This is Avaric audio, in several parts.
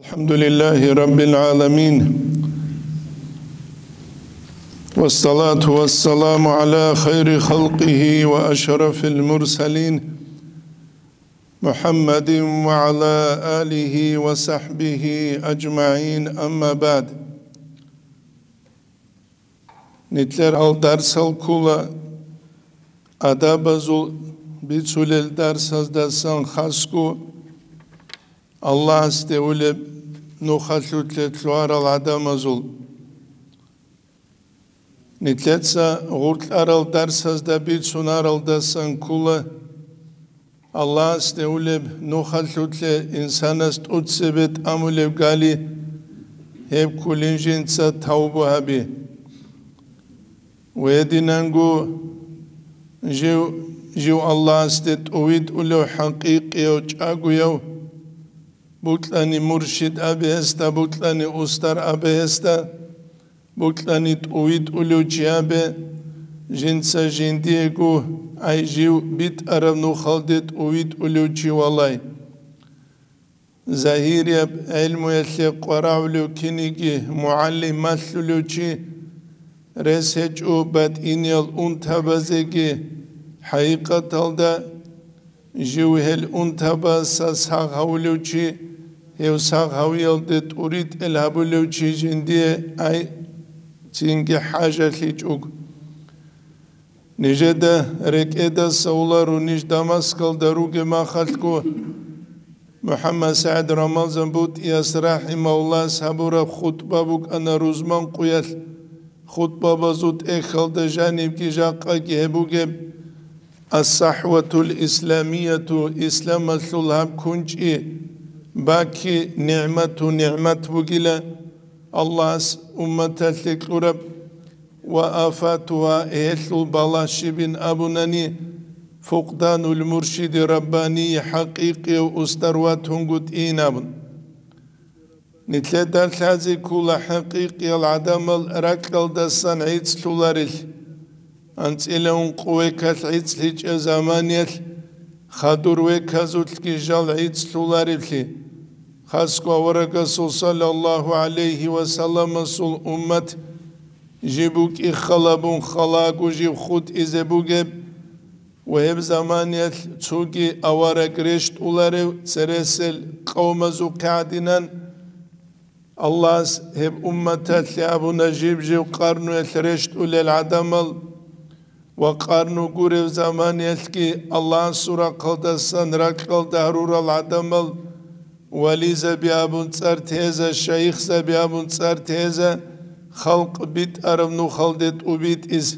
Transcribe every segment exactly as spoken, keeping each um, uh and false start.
الحمد لله رب العالمين، والصلاة والسلام على خير خلقه وأشرف المرسلين، محمد وعلى آله وصحبه أجمعين، أما بعد. Нилъер гьал дарсал ккола адабазул бицулел дарсаздасан хасго Аллагьасде улеб нухалъулъе лъугьарал гӀадамазул. Нилъеца гъоркьарал дарсазда бицунаралдасан ккола Аллагьасде улеб нухалъулъе инсанас тӀоцебе тӀамулеб гали, гьеб кколин жинца тавбу гьаби. Гьединанго жив, жив Аллагьасде тӀовитӀулев хӀакъикъияв чӀагояв, бокьани муршид абе гьесда, бокьани устар абе гьесда, бокьани тӀовитӀулев чи абе, жинца жиндиего, ай жив битӀараб нухалде тӀовитӀулев чи валай. Загьирияб гӀелмуялъе къварагӀулев киниги мугӀалим малъулев чи, рес гьечӀо батӀиниял унтабазеги, хӀакъикъаталда жив гьел унтабаса сагъ гьавулев чи, гьев сагъ гьавиялде тӀуритӀел гьабулев чи жиндие ай цинги хӀажалъичӀого. Нижеда рекӀедаса уларо ниж Дамаскалда ругеб махалъго, МухӀаммад СагӀид Рамазан БутӀияс рахӀимагьуллагьас гьабураб хутӀба букӀана рузман къуялъ, хутӀбабазул тӀехьалда жанибги жакъаги гьеб бугеб: «Ас-сахӀватул исламияту», исламалъул гьаб кунчӀи баки нигӀмату нигӀмат бугила, Аллагьас умматалъе кьураб, «ва афатугьа», гьелъул балагь щибин абунани, «фукъданул муршиди раббанийи», хӀакъикъияв устар ватунгутӀин абун. Нилъеда лъазе ккола хӀакъикъиял гӀадамал ракьалдасан гӀицӀлъуларел. АнцӀила ункъо векалъ гӀицӀлъичӀеб заманиялъ хадур веказулъги жал гӀицӀлъулареблъи, хасго аварагасул саллаллагьу гӀалайгьи ва салламасул уммат жиб букӀи халабун халаго жиб хутӀизе бугеб ва гьеб заманиялъ цоги авараг рещтӀуларев цересел къавмазухъе гӀадинан, Аллагьас гьеб умматалъе абуна жиб-жиб къарнуялъ рещтӀулел гӀадамал ва къарну гурев заманиялъги Аллагьасул рахъалдасан ракьалда гьарурал гӀадамал, вализаби абун цӀар теза, шайихзаби абун цӀар теза, халкъ битӀараб нухалде тӀубитӀиз.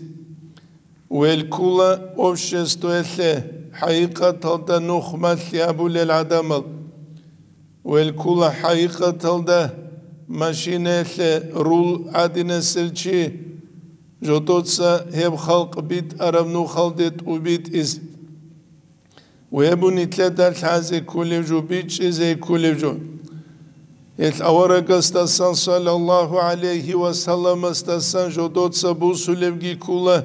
Велкула обществоялъе хӀакъикъаталда нух малъи абулел гӀадамал. Велкула хӀакъикъаталда машинаялъе рул гӀадинасел чи, жодоца гьеб халкъ битӀараб нухалде тӀубитӀиз. Гьеб нилъеда лъазе кколев жо, бичӀчӀизе кколев жо. Гьелъ аварагасдасан, саллаллагьу гӀалайгьи ва салламасдасан, жодоца бусулебги ккола,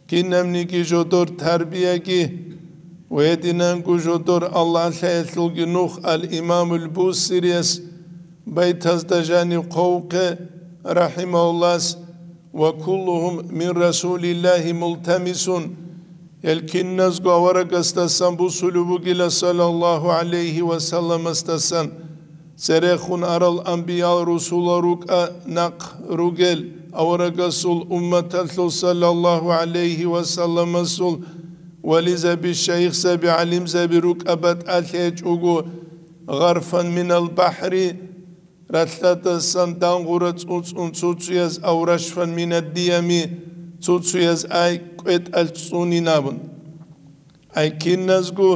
кинабниги жодор тарбияги, ва гьединанго жодор Аллагьлъаялъулги нух ал-Имамул Бусирияс, байтазда жанив хъвавухъе, рахӀимагьуллагьас, «Ва куллугьум мин Расулиллагьи мултамисун», гьел киназго аварагасдасан бусулеб бугила, саллаллагьу гӀалайгьи ва салламасдасан, церехун арал анбиял-русулал рукӀа нахъ ругел, аварагасул умматалъул, саллаллагьу гӀалайгьи ва салламасул, вализаби, шайихзаби, гӀалимзаби рукӀа батӀалъи гьечӀого, «гъарфан минал бахӀри», ралъадасан дангъура цӀуцӀун цуцуяз, «ав рашфан минад-диями», цуцуяз ай кӀветӀалъ цӀунин абун. Ай киназго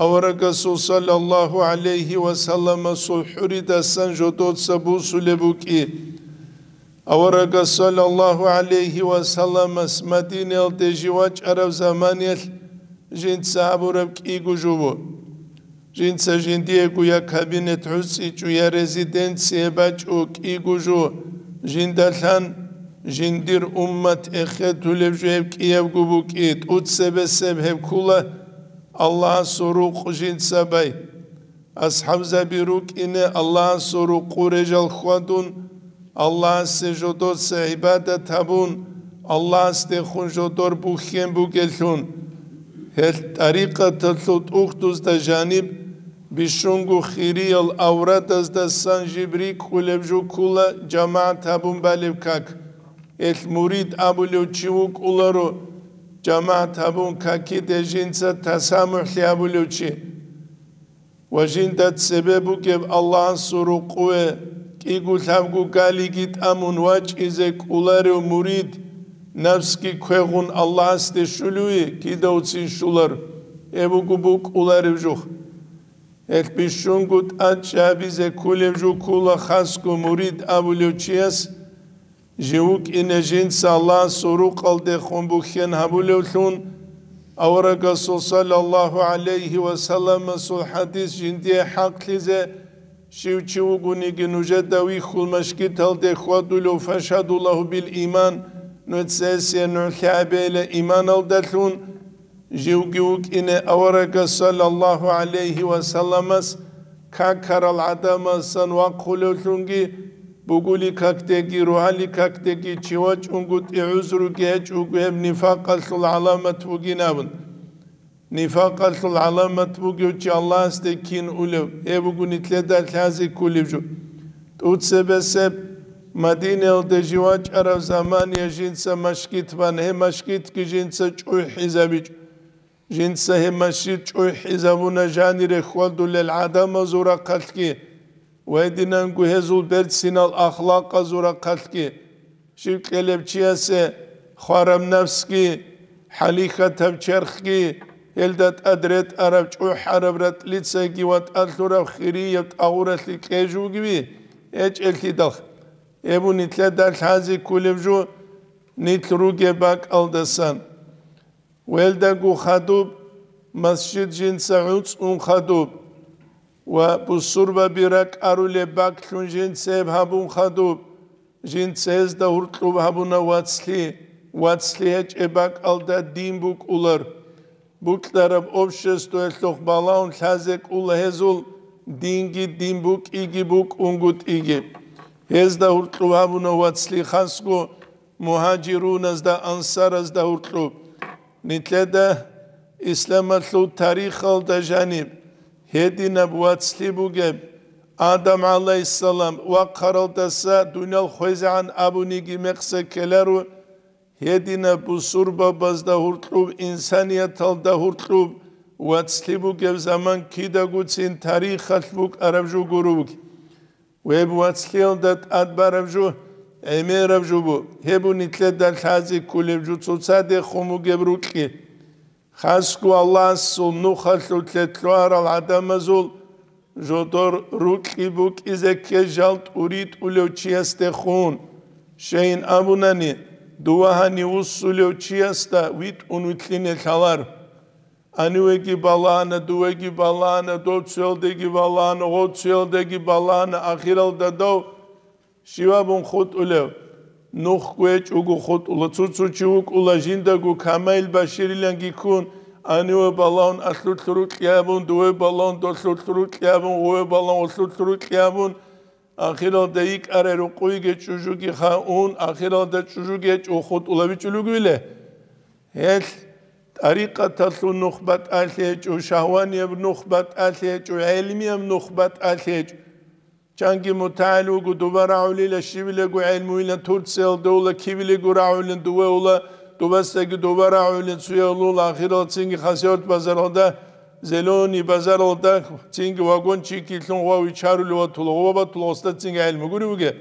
аварагасул, саллаллагьу гӀалайгьи ва салламасул хӀуридасан жодоца бусулеб букӀи. Аварагас, саллаллагьу гӀалайгьи ва салламас, Мадинаялде жив вачӀараб заманиялъ жинца гьабураб кӀиго жо бу. Жинца жиндиего я кабинет гӀуцӀичӀо, я резиденция бачӀо кӀиго жо, жиндалъан жиндир уммат эхетулеб жо гьеб кӀиябго букӀи, тӀуцебесеб гьеб ккола Аллагьасул рукъ жинца бай. АсхӀабзаби рукӀине Аллагьасул рукъу режал хьвадун, Аллагьасе жодоца гӀибадат гьабун, Аллагьасдехун жодор бухьен бугелъун. Гьел тӀарикъаталъул тӀухьдузда жаниб бищунго хириял аврадазда сан жиб рикӀкӀулеб жо ккула жамагӀат гьабун балеб как. Гьел мурид абулев чи вукӀуларо, жамагӀат гьабун какиде жинца тасамухӀлъи абулев чи. Ва жинда цебе бугеб Аллагьасул рукъуве кӀиго-лъабго галиги тӀамун вачӀизе кӀоларев мурид, напсги квегъун Аллагьасде щулеве кидавцин щулар, гьеб буго букӀулареб жо. Гьелъ бищунго тӀадчӀабизе кколеб жо ккула хасго мурид абулев чияс, жив вукӀине жинца Аллагьасул рукъалдехун бухьен гьабулевлъун, аварагасул саллаллагьу гӀалайгьи ва салламасул хӀадис жиндие хӀакълъизе, щив чи вугониги нужеда вихьул машгиталде хьвадулев фашгьаду лагьу бил иман, нуца гьесие нугӀлъи гьабейила иманалдалъун, живги вукӀине аварагас саллаллагьу гӀалайгьи ва салламас какарал гӀадамасан вахъулевлъунги, бугули какдеги, рогьали какдеги чи вачӀунгутӀи гӀузруги гьечӀого гьеб нифакъалъул гӀаламат бугин абун. Нифакъалъул гӀаламат бугев чи Аллагьасде кин улев, гьеб буго нилъеда лъазе кколеб жо. ТӀуцебесеб Мадинаялде жив вачӀараб замания жинца машгит бан, гьеб машгитги жинца чӀухӀизабичӀо. Жинца гьеб машгит чӀухӀизабуна жанире хьвадулел гӀадамазул рахъалъги ва гьединанго гьезул берцинал ахлакъазул рахъалъги. Щив кьелеб чиясе хвараб напсги, хӀалихьатаб черхги, гьелда тӀад ретӀараб чӀухӀараб ратӀлицайги ватӀалъураб хирияб тӀагъуралъе кьежугеви гьечӀелъидал, гьеб нилъеда лъазе кколеб жо нилъ ругеб бакӀалдасан. Гьелдаго хадуб, масжид жинца гӀуцӀун хадуб ва бусурбаби ракӀарулеб бакӀлъун жинца гьеб гьабун хадуб, жинца гьезда гьуркьуб гьабуна вацлъи, вацлъи гьечӀеб бакӀалда дин букӀулар. Букьараб обществоялъухъ балагьун лъазе кӀула гьезул, динги дин букӀиги букӀунгутӀиги. Гьезда гьуркьуб гьабуна вацлъи хасго мугьажируназда, ансаразда гьуркьуб. Нилъеда исламалъул тарихалда жаниб гьединаб вацлъи бугеб, Адам гӀалайгьиссалам вахъаралдаса дуниял хвезегӀан абуниги мекъса ккеларо, гьединаб бусурбабазда гьуркьуб, инсанияталда гьуркьуб вацлъи бугеб заман кидагоцин тарихалъ букӀараб жо гуро бугеб. Гьеб вацлъиялда тӀад бараб жо гӀемераб жо бу, гьеб нилъеда лъазе кколеб жо цоцадехун бугеб рукьи. Хасго Аллагьасул нухалъулъе лъугьарал гӀадамазул жодор рукьи букӀизе ккей жал тӀуритӀулев чиясдехун. Щайин абунани, дова гьанив вуссулев чиясда витӀун вилълъине лъалар. Гьанивеги балагьана, дувеги балагьана, дов цоялдеги балагьана, гъов цоялдеги балагьана, ахиралда дов щивабун хутӀулев? Нухго гьечӀого хутӀула. Цо-цо чи вукӀула жиндаго камаил башириланги ккун, гьаниве балагьун алъулъ рукьи абун, дуве балагьун долъулъ рукьи абун, гъуве балагьун гъолъулъ рукьи абун, ахиралда йикӀарай рукъуйги чӀужуги хаун, ахиралда чӀужуги гьечӀого хутӀулабичӀулугвиле? Гьелъ тӀарикъаталъул нух батӀалъи гьечӀо, шагьванияб нух батӀалъи гьечӀо, гӀелмияб нух батӀалъи гьечӀо. Чанги мутагӀил вуго, дуба рагӀулила, щибилего гӀелмуйилан Турциялда ула, кибилего рагӀулин дуве ула, дубасдаги дуба рагӀулин цуял ула, ахирал цинги Хасавюрт базаралда, Зеленый базаралда цинги вагончикилъун гъов вичарули ватула, гъова батула, гъосда цинги гӀелму гури буге.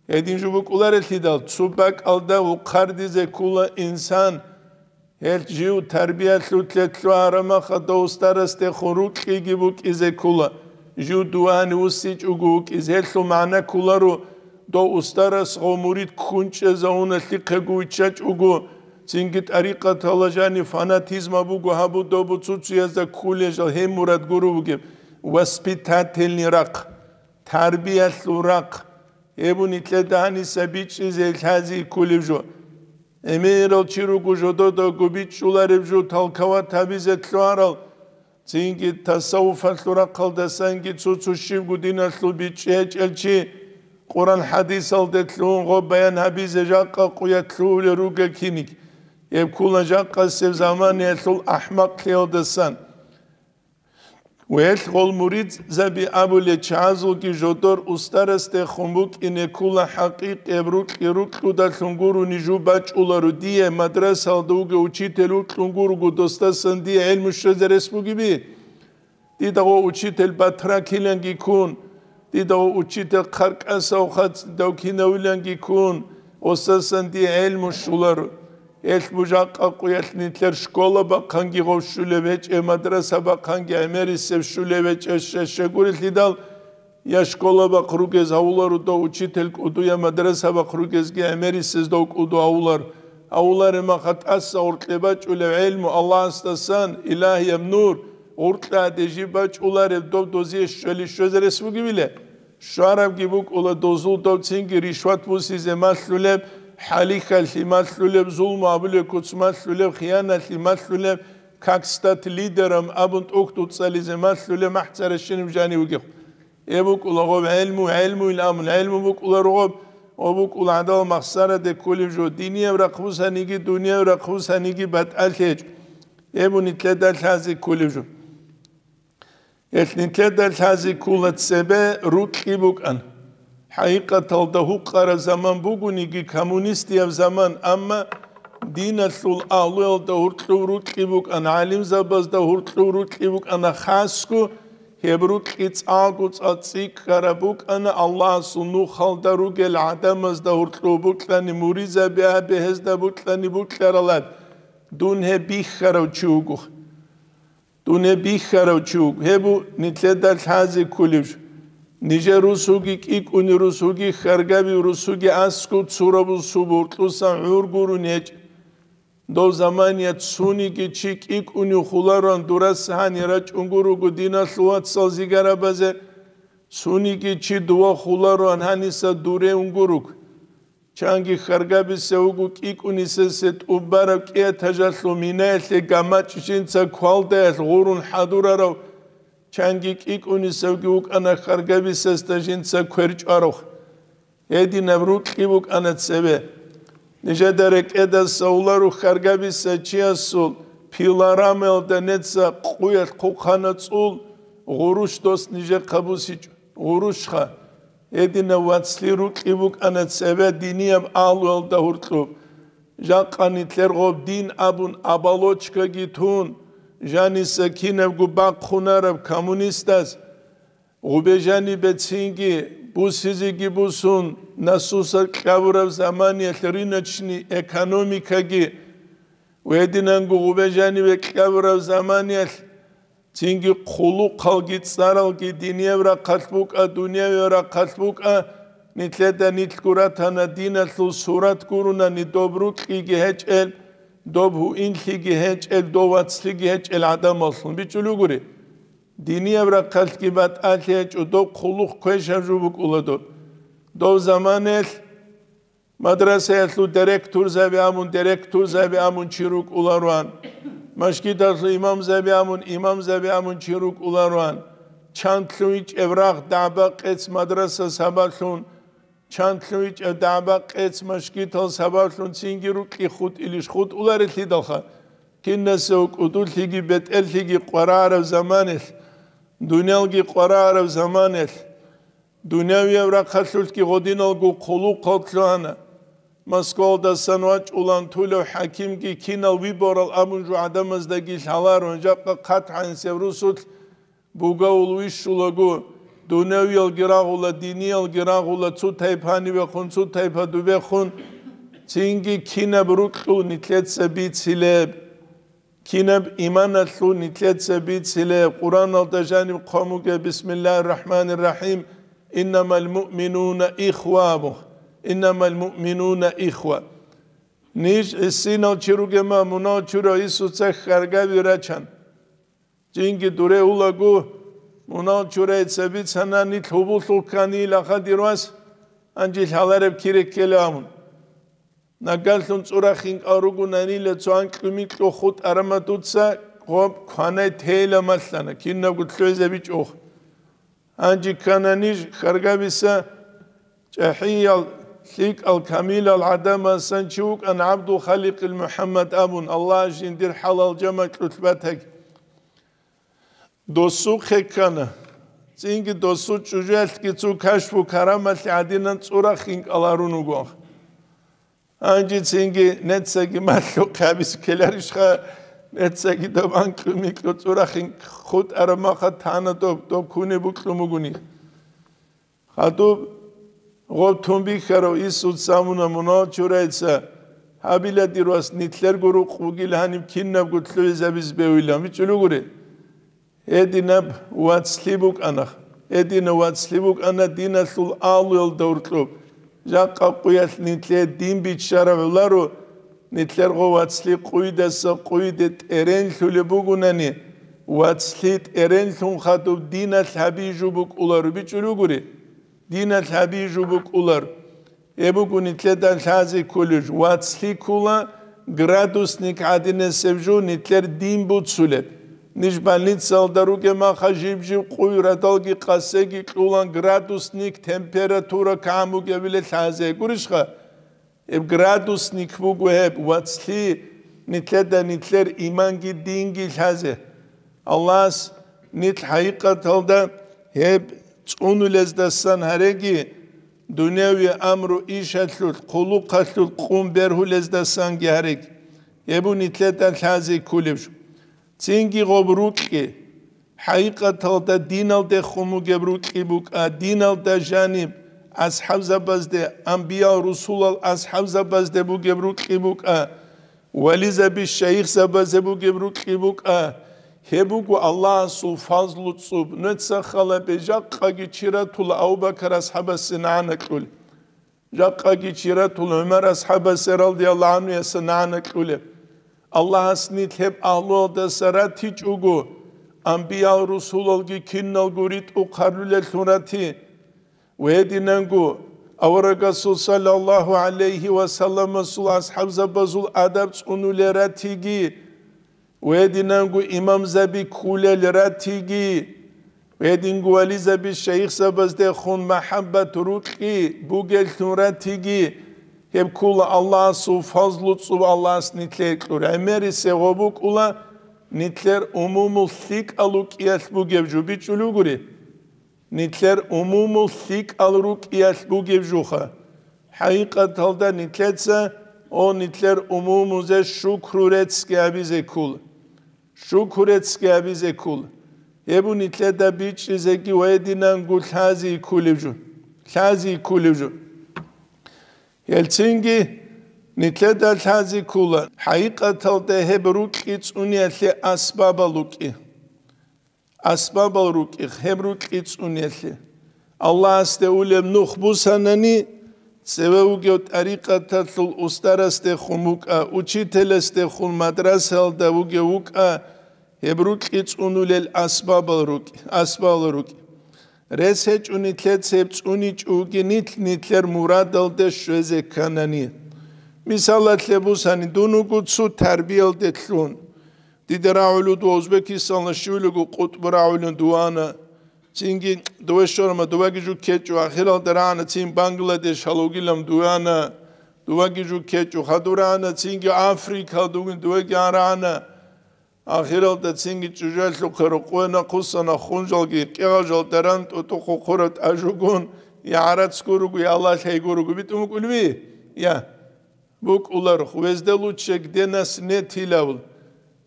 Гьедин жо букӀуларелъидал, цо бакӀалда вухъардизе ккула инсан, гьел жив тарбиялъулъе лъугьарамаха дов устарасдехун рукьиги букӀизе ккула, жив дувани вуссичӀого вукӀизе. Гьелъул магӀна кколаро, дов устарас гъов мурид ккун чӀезавуна лъихъего виччачӀого, цинги тӀарикъатала жанив фанатизма буго гьабу добу цуцуязда ккулел жал гьеб мурад гуро бугеб, воспитательный рахъ, тарбиялъул рахъ. Гьеб нилъеда гьаниса бичӀчӀизе лъази кколеб жо. Эмерал чи руго жододаго бичӀчӀулареб жо, толковать гьабизе лъугьарал, Цинги тасаввуфалъул рахъалдасанги цо-цо щибго диналъул бичӀчӀи гьечӀел чи Къуран-хӀадисалде лъугьун гъоб баян гьабизе жакъа къуялъ лъугьулел ругел киниг, гьеб ккула жакъасеб заманаялъул ахӀмакълъиялдасан. Гьелъ гъол муридзаби абулел чагӀазулги жодор устарасдехун букӀине ккула хӀакъикъияб рукьи-рукьудалъун гурони жо бачӀуларо дие, мадрасалда вугев учитель вукьун гурого досдасан дие гӀелму щвезе рес бугеби? Дида гъо учитель батракиланги ккун, дида гъо учитель хъаркӀасав хъацӀидав кинавиланги ккун, гъосасан дие гӀелму щуларо. Гьелъ бужахъа къуялъ нилъер школа бахъанги гъов щулеб гьечӀеб, мадраса бахъанги гӀемерисеб щулеб гьечӀеб, ща-, щагурелъидал, я школа бахъ ругез гьавуларо дов учитель кӀуду, я мадраса бахъ ругезги гӀемерисез дов кӀуду гьавулар. Гьавуларе маха тӀаса гъоркье бачӀулев гӀелму Аллагьасдасан, илагьияб нур, гъоркьа гьадежи бачӀулареб дов дозие щвели щвезе рес бугебиле? Щварабги букӀула дозул дов цинги ришват бусизе малъулеб, хӀалихьалъи малъулеб, зулму абулеб куц малъулеб, хияналъи малъулеб, как стать лидером абун тӀухьдуцӀализе малъулеб махӀцаращинаб жанив вугев. Гьеб букӀула гъоб гӀелму, гӀелмуйилан абун, гӀелму букӀула ругъоб, гъоб букӀула гӀадал махсараде кколеб жо, динияб рахъ бусаниги, дунияб рахъ бусаниги батӀалъи гьечӀо. Гьеб нилъеда лъазе кколеб жо. Гьелъ нилъеда лъазе ккола цебе рукьи букӀан. ХӀакъикъаталда гьукъараб заман бугониги, коммунистияб заман, амма диналъул агьлуялда гьоркьоб рукьи букӀана, гӀалимзабазда гьоркьоб рукьи букӀана, хасго гьеб рукьи цӀакъго цӀа цӀикӀкӀараб букӀана Аллагьасул нухалда ругел гӀадамазда гьоркьоб букьани, муридзаби абе гьезда букьани букьаралат, дун гьеб бихьарав чи вуго. Дун гьеб бихьарав чи вуго, гьеб нилъеда лъазе кколеб жо. Нижер русуги кӀикӀуни русуги, хьаргаби русуги аскӀоб цураб субуркьуса гӀур гурони гьечӀ. Дов замания цуниги чи кӀикӀуни хулароан дурас гьани рачӀунго руго диналъул вацал зигарабазе, цуниги чи дова хулароан гьаниса дуре унго руго. Чанги хьаргабиса вуго кӀикӀунисесе тӀубараб кӀиатажалъул минаялъе гамачӀ жинца квалдаялъ гъурун хӀадурарав, чанги кӀикӀунисавги вукӀана хьаргабисасда жинца кверчӀварав. Гьединаб рукьи букӀана цебе. Нижеда рекӀеда совлару хьаргабиса чиясул пилорамаялда неца къуялъ хъухъана цӀул, гъурущ дос нижехъа бусичӀо, гъурущха. Гьединав вацлъи рукьи букӀана цебе динияб агьлуялда гьоркьоб. Жакъа нилъер гъоб дин абун оболочкаги тун, жаниса кинабго бахъунараб коммунистас, гъубе жанибе цинги бусизеги бусун, насусал кьабураб заманиялъ рыночный экономикаги, гьединанго гъубе жанибе кьабураб заманиялъ цинги хъулухъалги цӀаралги динияб рахъалъ букӀа, дуниявияб рахъалъ букӀа, нилъеда нилъго ратана диналъул сурат гурунани доб рукьиги гьечӀел, доб гьуинлъиги гьечӀел, дов вацлъиги гьечӀел гӀадамаллъун бичӀчӀулев гури. Динияб рахъалъги батӀалъи гьечӀо, доб хъулухъ квешаб жо букӀула доб. Дов заманаялъ мадрасаялъул директорзаби абун, директорзаби абун чи рукӀулароан, машгидалъул имамзаби абун, имамзаби абун чи рукӀулароан, чандлъун ичӀеб рагъ дагӀба-къец мадраса сабаблъун, чандлъун ичӀеб дагӀба-къец машгидал сабаблъун цинги рукьи хутӀилищ хутӀуларелъидалха, кинасе кӀудулъиги бетӀерлъиги къварараб заманалъ, дуниялги къварараб заманалъ, Дунявияб рахъалъулъги гъодиналго хъулухъал лъугьана. Москвалдасан вачӀулан тулев хӀакимги кинал выборал абун жо гӀадамаздаги лъаларо, жакъа хъат гӀанасеб русулъ бугавул вищулаго, дунявиялги рагъула, диниялги рагъула, цо тайпа нивехун, цо тайпа дубехун, цинги кинаб рукьул нилъеца бицилеб? Кинаб иманалъул нилъеца бицилеб? Къуръаналда жаниб хъван бугеб: «Бисмиллагьир рахӀманир рахӀим, иннамал муъминуна ихва», абун. «Иннамал муъминуна ихва». Ниж гӀисинал чи ругема, мунал чура Исуца хьаргаби рачан. Жинги дуре улаго, мунал чурайца бицана нилъ гьубуллъул кканила хадирвас, гьанже лъалареб кире ккела абун. Нагагьлъун цӀура хинкӀал ругунанила цо анкьго-минкьго хутӀарама дуца, гъоб кванай тейила малъана, кинабго лъугӀизабичӀо. Гьанже ккана ниж хьаргабиса чӀахӀиял, лъикӀал, камилал гӀадамасан чи вукӀана ГӀабдул-Халикъил МухӀаммад абун, Аллагь жиндир хӀалал жамакьулъ батаги. Досухъе ккана. Цинги досул чӀужуялъги цо кашфу карамалъи гӀадинан цӀурахъин кӀаларун вуго. Гьанже цинги нецаги малъухъе гьабиз ккеларищха, нецаги доб анкьу-микьу цӀурахъин хутӀараб маха тана доб, доб кунеб букьун бугони. Хадуб гъоб тун бихьарав Исуц замуна мунагьал чурайца гьабила, дир вас, нилъерго рукъ бугил гьаниб кинабго лъугӀизабиз бевилан, бичӀчӀулугури. Гьединаб вацлъи букӀана. Гьединаб вацлъи букӀана диналъул агьлуялда гьоркьоб. Жакъа къуялъ нилъее дин биччараб гӀоларо, нилъер гъо вацлъи къуйдаса къуйде тӀеренлъулеб бугунани, вацлъи тӀеренлъун хадуб диналъ гьабижу букӀуларо, бичӀчӀулугури. Диналъ гьабижу букӀулар. Гьеб буго нилъеда лъазе кколеб жо. Вацлъи ккола градусник гӀадинасеб жо нилъер дин буцулеб. Ниж больницаялда ругеб маха жиб-жиб къуй радалги къасеги кьулан, градусник температура кагӀан бугебиле лъазе. Гурищха? Гьеб градусник буго гьеб вацлъи нилъеда нилъер иманги динги лъазе. Аллагьас нилъ хӀакъикъаталда гьеб цӀунулездасан гьареги, дунявияб амру ишалъулъ, хъулухъалъулъ къун бергьулездасанги гьареги, гьеб нилъеда лъазе кколеб жо. Цинги гъоб рукьи, хӀакъикъаталда диналдехун бугеб рукьи букӀа, диналда жаниб асхӀабзабазде, анбиял-русулал асхӀабзабазде бугеб рукьи букӀа, вализаби-шайихзабазе бугеб рукьи букӀа. Гьеб буго Аллагьасул фазлу цӀуб. Нуца халабе, жакъаги чи ратула Абу-Бакар асхӀабасе нагӀана кьули. Жакъаги чи ратула ГӀумар асхӀабасе радияллагьу гӀанхуяса нагӀана кьулеб. Аллагьас нилъ гьеб агьлуялдаса ратичӀого, анбиял-русулалги киналго ритӀухъ гьарулеллъун рати. Гьединанго аварагасул саллаллагьу гӀалайгьи ва салламасул асхӀабзабазул адаб цӀунулел ратиги, гьединанго имамзаби ккулел ратиги, гьединго вализаби-шайихзабаздехун махӀаббат рукьи бугеллъун ратиги, гьеб ккола Аллагьасул фазлу цӀуб. Аллагьас нилъее кьур гӀемерисего букӀула нилъер умумул лъикӀал рукӀиялъ бугеб жо, бичӀчӀулугури. Нилъер умумул лъикӀал рукӀиялъ бугеб жуха. ХӀакъикъаталда нилъеца, о, нилъер умумузе шукру реццги гьабизе ккола. Шукру реццги гьабизе ккола. Гьеб нилъеда бичӀчӀизеги ва гьединанго лъази кколеб жо. Лъази кколеб жо. Гьелцинги нилъеда лъази ккола, хӀакъикъаталда гьеб рукьи цӀуниялъе асбабал рукӀи. Асбабал рукӀи, гьеб рукьи цӀуниялъе. Аллагьасде улеб нух бусанани, цеве вугев тӀарикъаталъул устарасдехун вукӀа, учителасдехун мадрасаялда вугев вукӀа, гьеб рукьи цӀунулел асбабал рукӀи, асбабал рукӀи. Рес гьечӀо нилъеца гьеб цӀуничӀого нилъ нилъер мурадалде щвезе кканани. Мисалалъе бусани, дун вуго цо тарбиялде лъун. Дида рагӀулев дова Узбекистаналда щивлего къутӀбу рагӀулев дувана. Цинги дова щварма, дуваги жу ккечӀо, ахиралда рагӀана цин Бангладеш гьалугилан дувана. Дуваги жу ккечӀо, хадур рагӀана цинги Африкалда вугин дуваги гьан рагӀана. Ахиралда цинги чӀужуялъухъе рокъове нахъусана, хунжалги кӀегъажал даран тӀутӀухъ хъураб тӀажугун, я гӀарац гуруго, я лалъай гуруго битӀун букӀулеби? Я. БукӀуларо, везде лучше, где нас нет илавул.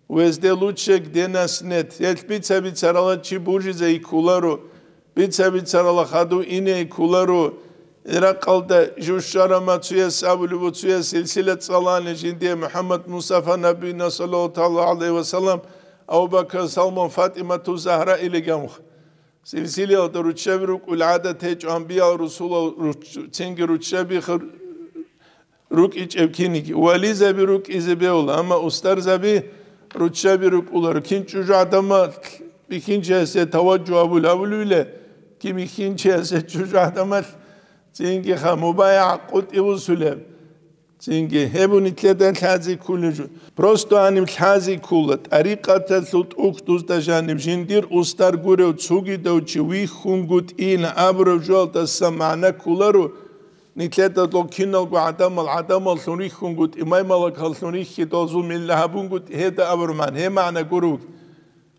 Везде лучше, где нас нет. Гьелъ бица-бицарала чи бужизе йиккуларо, бица-бицарала хадув ине йиккуларо. Иракъалда жушарама цуяс абулеб, цуяс силсила цӀалани жинде МухӀаммад Мустафа набийна саллаллагьу гӀалайгьи ва саллам, Абу Бакр, Салман, ФатӀимату Загьра илигамха. Силсилаялда руччаби рукӀул гӀадат гьечӀо, анбиял, русулал руч-, цинги руччаби хир-, рукӀичӀеб киниги. Вализаби рукӀизе бегьула, амма устарзаби руччаби рукӀуларо. Кин чӀужугӀадамал бихьинчиясе таваджугь абул-, абулевиле, кин бихьинчиясе чӀужугӀадамал цинги ха мубайгӀа къутӀи бусулеб. Цинги гьеб нилъеда лъази кколеб жо. Просто гьаниб лъази ккола, тӀарикъаталъул тӀухьдузда жаниб жиндир устар гурев цогидав чи вихьунгутӀин абураб жоялдаса магӀна кколаро, нилъеда дол киналго гӀадамал гӀадамаллъун рихьунгутӀи, маймалакаллъун рихьидал зумилла гьабунгутӀи гьеда абураб магӀна, гьеб магӀна гуро.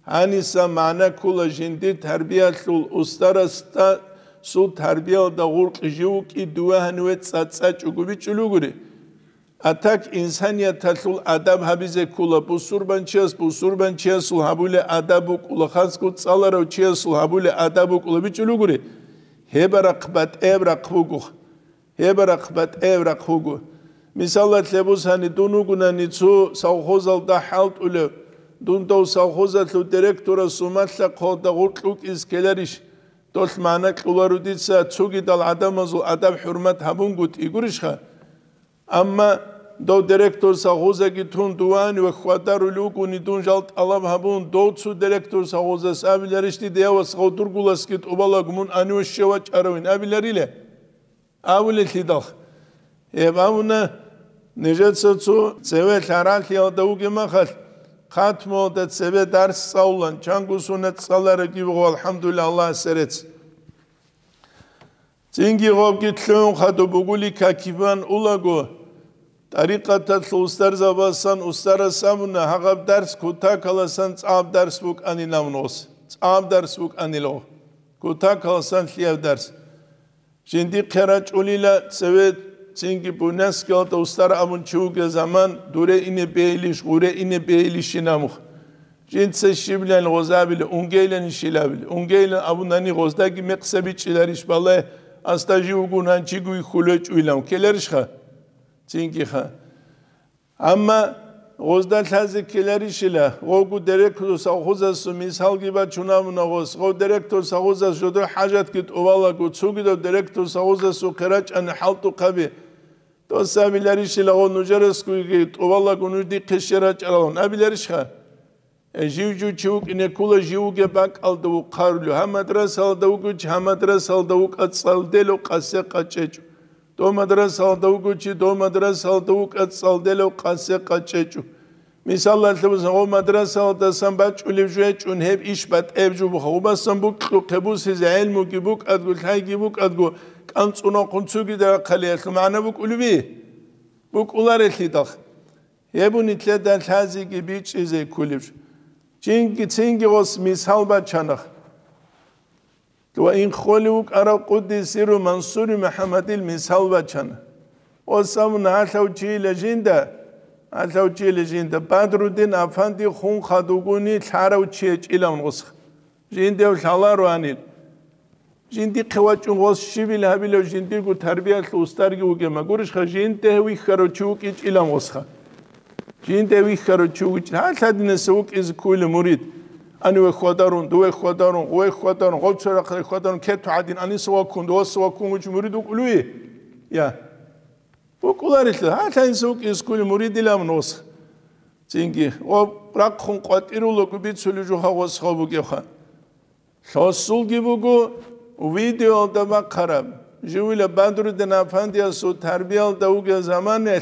Гьаниса магӀна ккола жиндир тарбиялъул устарасда, сул тарбиялда гъуркь жив вукӀи, дуве гьаниве цӀацӀачӀого бичӀчӀулев гури. А так инсанияталъул адаб гьабизе ккола, бусурбанчияс бусурбанчиясул гьабулеб адаб букӀула, хасго цӀаларав чиясул гьабулеб адаб букӀула бичӀчӀулев гури. Гьеб рахъ батӀияб рахъ буго. Гьеб рахъ батӀияб рахъ буго. Мисалалъе бусани, дун вугунани цо совхозалда хӀалтӀулев, дун дов совхозалъул директорасул малъа-хъвалда гъуркь вукӀизе ккеларищ? Долъ магӀна кьоларо дица, цогидал гӀадамазул адаб-хӀурмат гьабунгутӀи гурищха? Амма дов директор совхозаги тун дувани ва хьвадарулев вугони, дун жал тӀалаб гьабун, дов цо директор совхозас абиларищ дида: «Я вас, гъов дургуласги тӀубалаго, мун гьаниве щвев вачӀаравин», абиларила? Абулелъидал. Гьеб абуна, нижеца цо цеве лъаралъиялда вугеб махалъ, хатмуялда цебе дарс цӀалулан, чанго сунат цӀаларабги буго, алхӀамдулиллагь, Аллагьасе рецц. Цинги гъобги лъугӀун хадуб бугули какиван улаго, тӀарикъаталъул устарзабасан устарас абуна, гьагъаб дарс кутакаласан цӀаб дарс букӀанилан гъос, цӀаб дарс букӀанило, кутакаласан лъияб дарс. Жиндихъе рачӀулила цеве, цинги Буйнакскиялда устар абун чи вугел заман, дуре ине бейилищ, гъуре ине бейилищин абун. Жинца щибилан гъозабила, унгейлан щилабила, унгейлан абунани гъоздаги мекъса бичӀчӀиларищ балай, асда жив вугун гьанчиго вихьулечӀуйилан ккеларищха? Цингиха. Амма гъозда лъазе ккеларищила, гъовго директор совхозасул мисалги бачун абуна гъос, гъов директор совхозас жодор хӀажатги тӀубалаго, цогидав директор совхозасухъе рачӀани хӀалтӀухъаби, дос абиларищила гъов нужерасгоги тӀубалаго нуж дихъе щвер рачӀаралан абиларищха? Э, жив-жив чи вукӀине ккола, жив вугеб бакӀалда вухъарулев. Гьаб мадрасалда вуго чи, гьаб мадрасалда вукӀа цӀалделев къасе къачӀечӀо. Дов мадрасалда вуго чи, дов мадрасалда вукӀа цӀалделев къасе къачӀечӀо. Мисалалъе бусани, гъов мадрасалдасан бачӀулеб жо гьечӀун гьеб иш батӀеб жо буха. Гъубасан букьухъе бусизе гӀелмуги букӀадго, лъайги букӀадго, кӀанцӀунахъун цогидал рахъалиялъул магӀна букӀулеби? БукӀуларелъидал. Гьеб нилъеда лъазеги бичӀчӀизе кколеб жо. Чинги цинги гъос мисал бачана. Ва ин холев вукӀарав къуддиса сирругьу Мансури МухӀаммадил мисал бачана. Гъос абуна, гьалъав чийила жинда, гьалъав чийила жинда, Бадруддин афанди хун хадугуни лъарав чи гьечӀилан гъос. Жиндев лъалароанил. Жиндихъе вачӀун гъос щибил гьабилев жиндирго тарбиялъул устарги вугема гурищха, жинде вихьарав чи вукӀичӀилан гъосха. Жинде вихьарав чи вукӀи-, гьалъ гьадинаса вукӀизе ккуйила мурид. Ани ве хьвадарун, дуве хьвадарун, гъуве хьвадарун, гъов цо рахъалде хьвадарун, кету гьадин, аниса ваккун, дуваса ваккун вуч мурид вукӀулуй? Я. ВукӀуларелъул, гьалъ гьадинаса вукӀизе ккуйила муридилан гъос. Цинги, ва рахъун къватӀирулаго бицулев жо гъосха бугевха. Лъосулги буго, видеоялда бахъараб, живила Бадруддин афандиясул тарбиялда вугел заманалъ,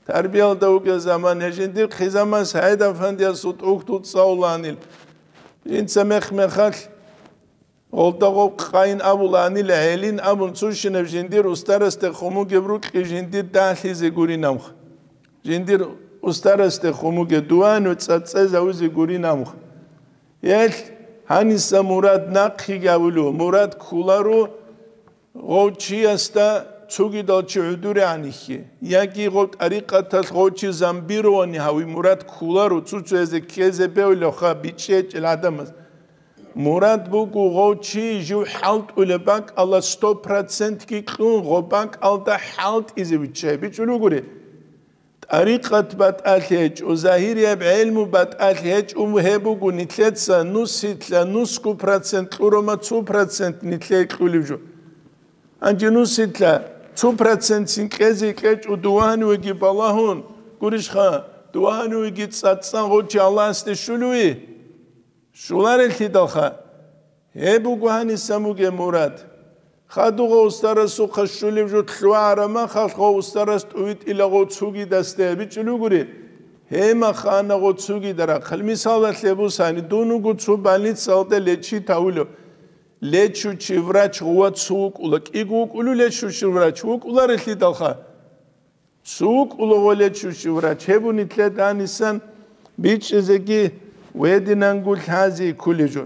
тарбиялда вугел заман, гьежиндир хъизаман СагӀид афандиясул тӀухьдул цӀалуланил. Жинца мех-мехалъ, гъолда гъоб къайин абуланил, гӀелин абун цущинаб жиндир устарасде хъумугеб рукьи жиндир дагьлъизе гуринамха. Жиндир устарасде хъумуге дуану цӀацӀцӀезавизе гуринамха. Гьелъ гьаниса мурад нахъе гавулев, мурад кколаро гъов чиясда цогидал чи гӀодорегӀан ихье, яги гъов тӀарикъаталъ гъов чи замбирование гьави мурад кколаро, цо-цоязе ккезе бевлевха бичӀчӀичӀел гӀадамаз. Мурад буго гъов чи жив хӀалтӀулеб бакӀалда сто процентги кьун, гъоб бакӀалда хӀалтӀизе виччай бичӀчӀулев гури. ТӀарикъат батӀалъи гьечӀо, загьирияб гӀелму батӀалъи гьечӀо, гьеб буго нилъеца нусилъа нусго процент кьураб, цо процент нилъее кьулеб жо. Гьанже нусилъа цо процентцин кьезе кьечӀо, дуванивеги балагьун, гурищха, дуванивеги цӀацӀцӀан гъочи Аллагьасде щулеви? Щуларелъидалха. Гьеб буго гьаниса мугеб мурад. Хадугъа устарасухъа щулеб жо лъугӀараб махалъ, гъо устарас тӀувитӀила гъо цугидасда, бичӀчӀулугури, гьемахана гъо цугида рахъал. Мисалалъе бусани, дун вуго цо больницалда лечить гьавулев. Лечучий врач гъува цо вукӀула, кӀиго вукӀулев лечучий врач, вукӀуларелъидалха. Цо вукӀула гъо лечучий врач, гьеб нилъеда гьанисан бичӀчӀизеги гьединанго лъази кколеб жо.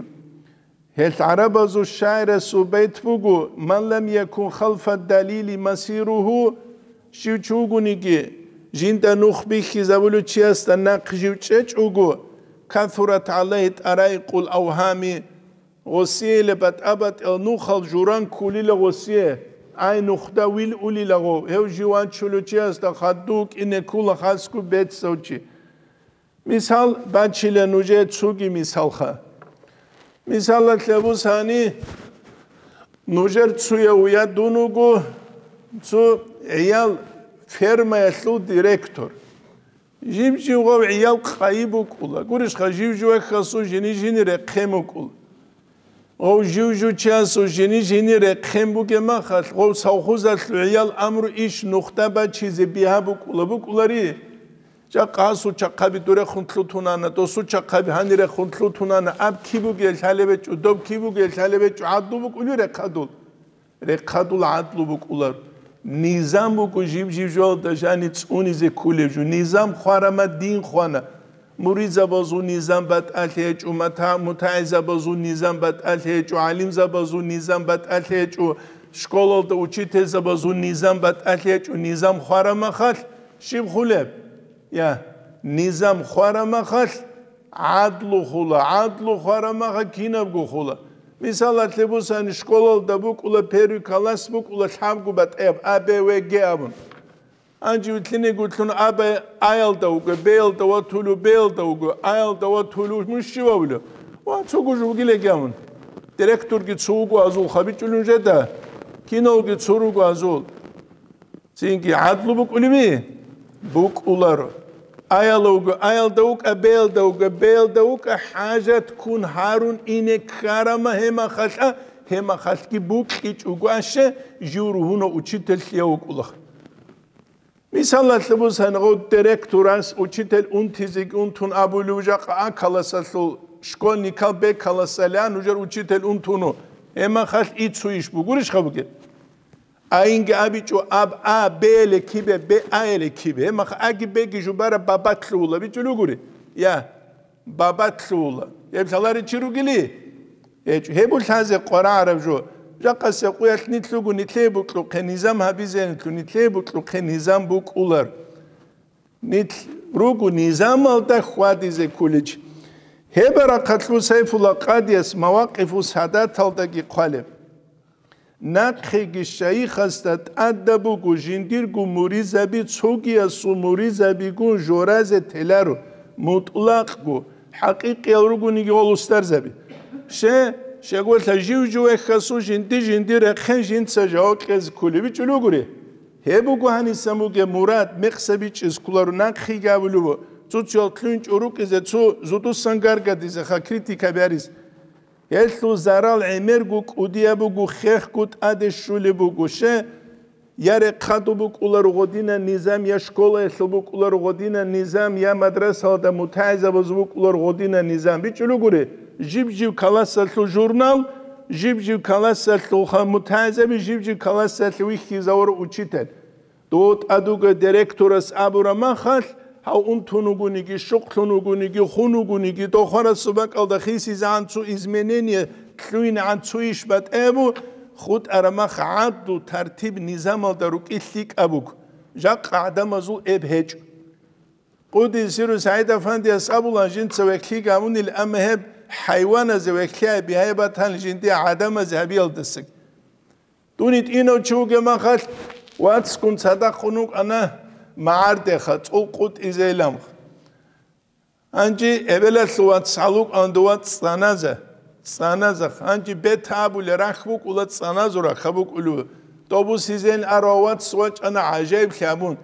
Гьел гӀарабазул шагӀирасул байт буго: «Ман лам якун халфа далили масиругьу», щив чи вугониги, жинда нух бихьизабулев чиясда нахъ жив чӀечӀого, «касурат гӀалайгьи тараикъул авгьами», гъосиялъе батӀа-батӀиял нухал журан кколила гъосие, ай нухда вил улила гъов, гьев жив вачулев чиясда хадув кӀине ккула хасго бецав чи. Мисал бачила нужее цоги мисалха. Мисалалъе бусани, нужер цояв я дун вуго цо гӀиял фермаялъул директор. Жив-жив гъав гӀиял къайи букӀула. Гурищха, жив-жив вехьасул жини-жини рехъен букӀула. Гъов жив-жив чиясул жини-жини рехъен бугеб махалъ, гъов совхозалъул гӀиял амру иш нухда бачизе бигьа букӀула, букӀулари? Жакъа гьасул чахъаби дурехун лъутунана, досул чахъаби гьанирехун лъутунана, аб киб бугел лъалеб гьечӀо, доб киб бугел лъалеб гьечӀо, гӀадлу букӀулев рехъадул? Рехъадул гӀадлу букӀулар. Низам буго жиб-жиб жоялда жани цӀунизе кколеб жо. Низам хварама дин хвана. Муридзабазул низам батӀалъи гьечӀо, мата-, мутагӀилзабазул низам батӀалъи гьечӀо, гӀалимзабазул низам батӀалъи гьечӀо, школалда учительзабазул низам батӀалъи гьечӀо, низам хварамахалъ щиб хулеб? Я, низам хварамахалъ гӀадлу хула, гӀадлу хварамаха кинабго хула. Мисалалъе бусани, школалда букӀула первый класс букӀула лъабго батӀияб А, Б, В, Г абун. Гьанже вилълъинегулъун А, Б, А-ялда вуго, Б-ялда ватулев, Б-ялда вуго, А-ялда ватулев, мун щивавулев? Ва цого жо вугилеги абун. Директорги цо вуго азул хабичӀулин жеда, киналги цо руго азул. Цинги гӀадлу букӀулеби? БукӀуларо. А-яла вуго, А-ялда вукӀа, Б-ялда вуго, Б-ялда вукӀа, хӀажат ккун гьарун ине ккарама гьемахалъа, гьемахалъги букьичӀого аще, жив ругьуна учительлъия вукӀулаха. Мисалалъе бусани, гъов директорас учитель унтизеги унтун абулев жакъа А классалъул школьникал Б классалиан нужер учитель унтуну, гьемахалъ ицу иш бугурищха бугеб? Айинги абичӀо аб А Б-яле кибе, Б А-яле кибе. Гьеб мах аги беги жубараб бабатлъувула бичӀулугури. Я, бабатлъувула. Гьеб лъаларичи ругили? ГьечӀо. Гьеб лъазе къварагӀараб жо. Жакъасе къуялъ нилъ руго, нилъее букьухъе низам гьабизе нилъу, нилъее букьухъе низам букӀулар. Нилъ руго низамалда хьвадизе кколич. Гьеб рахъалъул Сайфулла къадияс Мавакъифу Садаталдаги хъвалеб. Нахъеги шайихасда тӀадаб буго жиндирго муридзаби цогиясул муридзабигун жоразе теларо, мутӀлакъго, хӀакъикъиял ругониги гъол устарзаби. Ще, щегъвелъа жив-жив вехьасул жинди-жинди рехъен жинца жаваб кьезе кколеб бичӀулугури. Гьеб буго гьанисан бугеб мурад, мекъса бичӀчӀиз кколаро нахъеги абулеб, цо-цоял кьунчӀо рукӀизе, цо зудусан гаргадизеха критика бярис. Гьелъул зарал гӀемерго кӀудияб буго, хехго тӀаде щулеб буго. Ще, я рехъадул букӀуларо гъодинан низам, я школаялъул букӀуларо гъодинан низам, я мадрасалда мутагӀилзабазул букӀуларо гъодинан низам. БичӀулугури, жиб-жиб классалъул журнал, жиб-жиб классалъул ха-, мутагӀилзаби, жиб-жиб классалъе вихьизавура учитель. Дов тӀадуга директорас абура махалъ, гьав унтун вугониги, щукълъун вугониги, хун вугониги, дов хварасул бакӀалда хисизегӀан цо изменение, лъугьинегӀан цо иш батӀаябу, хутӀара мах гӀадлу тартиб-низамалда рукӀи лъикӀаб буго, жакъа гӀадамазул эб гьечӀо. Къудиси сиру СагӀид-афандияс абула, жинца вехьлъи гьавунил, амма гьеб хӀайваназе вехьлъи гьабизе батани жиндие гӀадамазе гьабиялдасаги. Дун гьитӀинав чи вугеб махалъ, вацгун цадахъун вукӀана магӀардеха, цӀул къутӀизейилан. Гьанже эбелалъул вац гьалукӀан дова цӀаназа, цӀаназа. Гьанже бетӀ абулеб рахь букӀула, цӀаназул рахъа букӀулеб. Тобусизейин арав вац вачӀана гӀажаиблъи гьабун.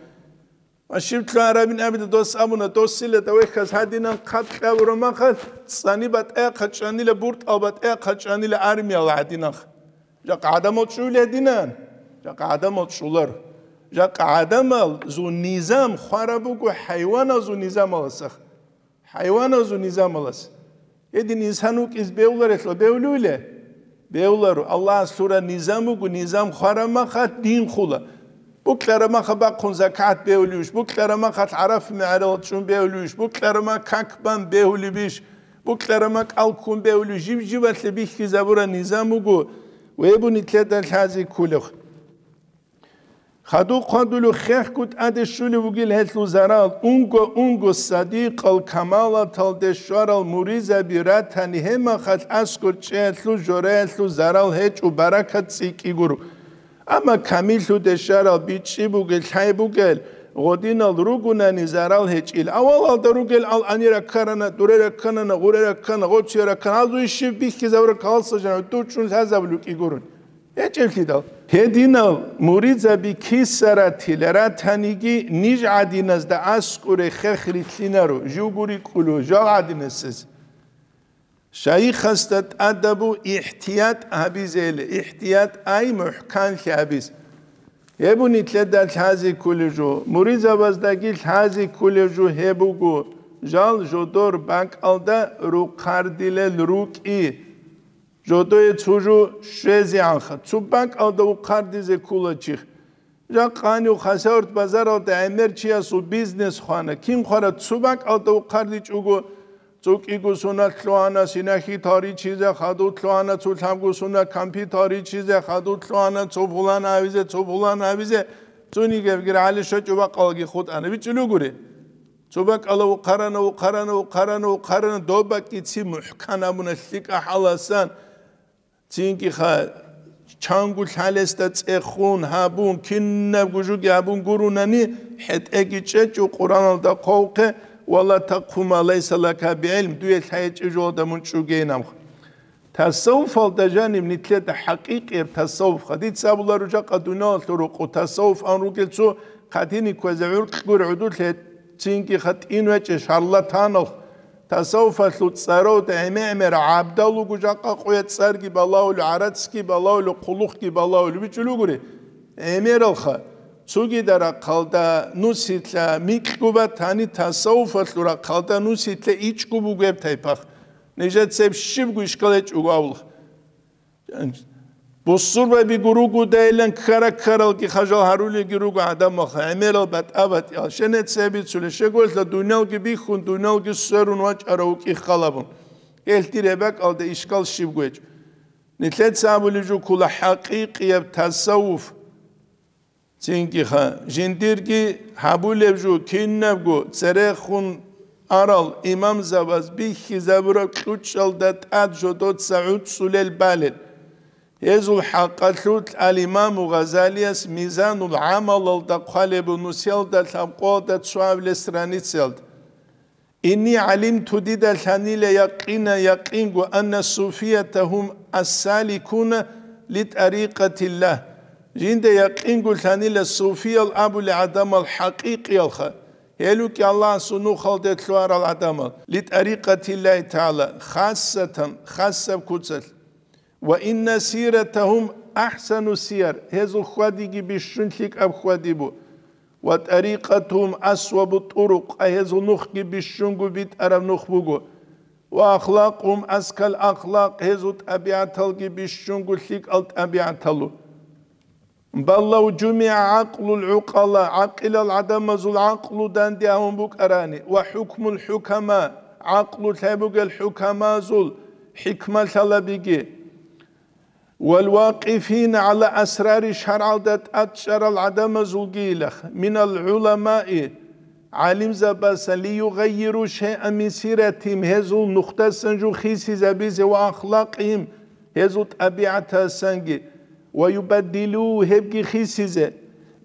Ва щиб лъугьарабин абида дос абуна, досила давехьаз гьадинан хъат кьабура махалъ, цӀани батӀаякъа чӀанила, буртӀал батӀаякъа чӀанила армияла гьадинанха. Жакъа гӀадамал чӀулел гьединан, жакъа гӀадамал чӀулар. Жакъа гӀадамалзул низам хвараб буго хӀайваналзул низамалдаса. ХӀайваналзул низамалдаса. Гьедин инсан вукӀизе бегьуларелъул бегьулевиле? Бегьуларо. Аллагьас лъураб низам буго, низам хвараб махалъ дин хула. Букьараб махалъ бахъун закат бегьулевищ? Букьараб махалъ ГӀарафа мегӀералда чӀун бегьулевищ? Букьараб махалъ как бан бегьулебищ? Букьараб махалъ кӀал ккун бегьулев? Жиб-жибалъе бихьизабураб низам буго, гьеб буго нилъеда лъазе кколеб. Хадуб хъвадулев хехго тӀаде щолеб бугила гьелъул зарал, унго-унго садикъал камалаталде щварал муридзаби ратани, гьеб махалъ аскӀор чӀеялъул жораялъул зарал гьечӀо, баракат цӀикӀкӀи гуро. Амма камиллъуде щварал бичӀчӀи бугел, лъай бугел, гъодинал ругонани зарал гьечӀила. Авалалда ругел ал гьанир раккарана, дуре ракканана, гъуре раккана, гъоцие раккана, гьазул щиб бихьизабураб калалса жанив дур чӀун лъазабулев кӀи гурони. ГьечӀеблъидал. Гьединал муридзаби киса ратила ратаниги, ниж гӀадиназда аскӀоре хех рилълъинаро, живго рикӀкӀулев жал гӀадинасез. Шайихасда тӀадабу ихтият гьабизейила, ихтият ай мухӀканлъи гьабиз. Гьеб буго нилъеда лъазе кколеб жо, муридзабаздаги лъазе кколеб жо гьеб буго, жал жодор бакӀалда рухъардилел рукӀи. Жодое цо жо щвезегӀанха, цо бакӀалда ухъардизе ккола чи. Жакъа гьанив Хасавюрт базаралда гӀемер чиясул бизнес хвана, кин хвара цо бакӀалда ухъардичӀого, цо кӀиго сунат лъугьана синахьи таричизе, хадув лъугьана цо лъабго сунат кампи таричизе, хадув лъугьана цо фулан гьавизе, цо фулан гьавизе, цониги гьебги рагӀале щвечӀеб бакӀалги хутӀана, бичӀчӀулев гури. Цо бакӀалда ухъарана, ухъарана, ухъарана, ухъарана, доб бакӀги ци мухӀкан гьабуна лъикӀа хӀаласан, цинги ха чанго лъалесда цӀехун гьабун, кинабго жоги гьабун гуронани, хӀетӀеги чӀечӀо Къуръаналда хъвавухъе: «Ва ла такъфу ма лайса лака бигӀилм», дуе лъай гьечӀеб жоялда мун чӀугейин абун. Тасаввуфалда жаниб нилъеда хӀакъикъияб тасаввуф, дица абуларо жакъа дуниялалъул рокъоб тасаввуф ан ругел цо хъатине кквезе гӀуркьгури гӀодулъе, цинги ха тӀинвечӀеб шарлатанал. Тасаввуфалъул цӀаралда гӀемер-гӀемер гӀабдал руго жакъа къоялъ цӀарги балагьулев, гӀарацги балагьулев, хъулухъги балагьулев, бичӀчӀулев гури. ГӀемералха, цогидал рахъалда нусилъа микьго батани, тасаввуфалъул рахъалда нусилъа ичӀго бугеб тайпа. Нижеца гьеб щибго ишкал гьечӀого абулха. Бусурбабиго ругодайилан ккара-ккаралги хажал гьарулелги руго гӀадамалха, гӀемерал батӀа-батӀиял, щенеца гьеб бицулеб, щегоялъа дуниялги бихьун, дуниялги сверун вачӀарав вукӀи халабун. Гьелъ дир гьеб бакӀалда ишкал щибго гьечӀо. Нилъеца абулеб жо ккола хӀакъикъияб тасаввуф. Цинги ха, жиндирги гьабулеб жо, кинабго церехун арал имамзабаз бихьизабураб кьучӀалда тӀад жодоца гӀуцӀулел балел. Гьезул хӀакъалъулъ ал-Имаму Гъазалияс Мизанул гӀамалалда хъвалеб, нусиялда лъабкъоялда цоабилеб страницаялда: «Инни гӀалимту», дида лъанила якъина, якъинго, «анна суфията гьум ас-саликуна ли тӀарикъатиллагь». Жинда якъинго лъанила суфиял абулел гӀадамал хӀакъикъиялха, гьел рукӀи Аллагьасул нухалде лъугьарал гӀадамал, «ли тӀарикъатиллагьи тагӀала», хасатан, хасаб куцалъ. «Ва инна сиратагьум ахӀсану сияр», гьезул хьвадиги бищун лъикӀаб хьвади бу. «Ва тӀарикъатугьум асвабу тӀурукъ», гьезул нухги бищунго битӀараб нух буго. «Ва ахлакъугьум аскал ахлакъ», гьезул тӀабигӀаталги бищунго лъикӀал тӀабигӀаталу. «Бал лав жумигӀа гӀакълул гӀукъала», гӀакъилал гӀадамазул гӀакълу данде гьавун букӀарани, «ва хӀукмул хӀукама», гӀакълу лъай бугел хӀукамазул хӀикмалъалабиги, «вал вакъифина гӀала асрари», шаргӀалда тӀад чӀарал гӀадамазулгийилах, «минал гӀуламаи», гӀалимзабасан, «ли югъаййиру шайъан мин сиратигьим», гьезул нухдасан жо хисизабизе, «ва ахлакъигьим», гьезул тӀабигӀатасанги, «ва юбаддилу», гьебги хисизе,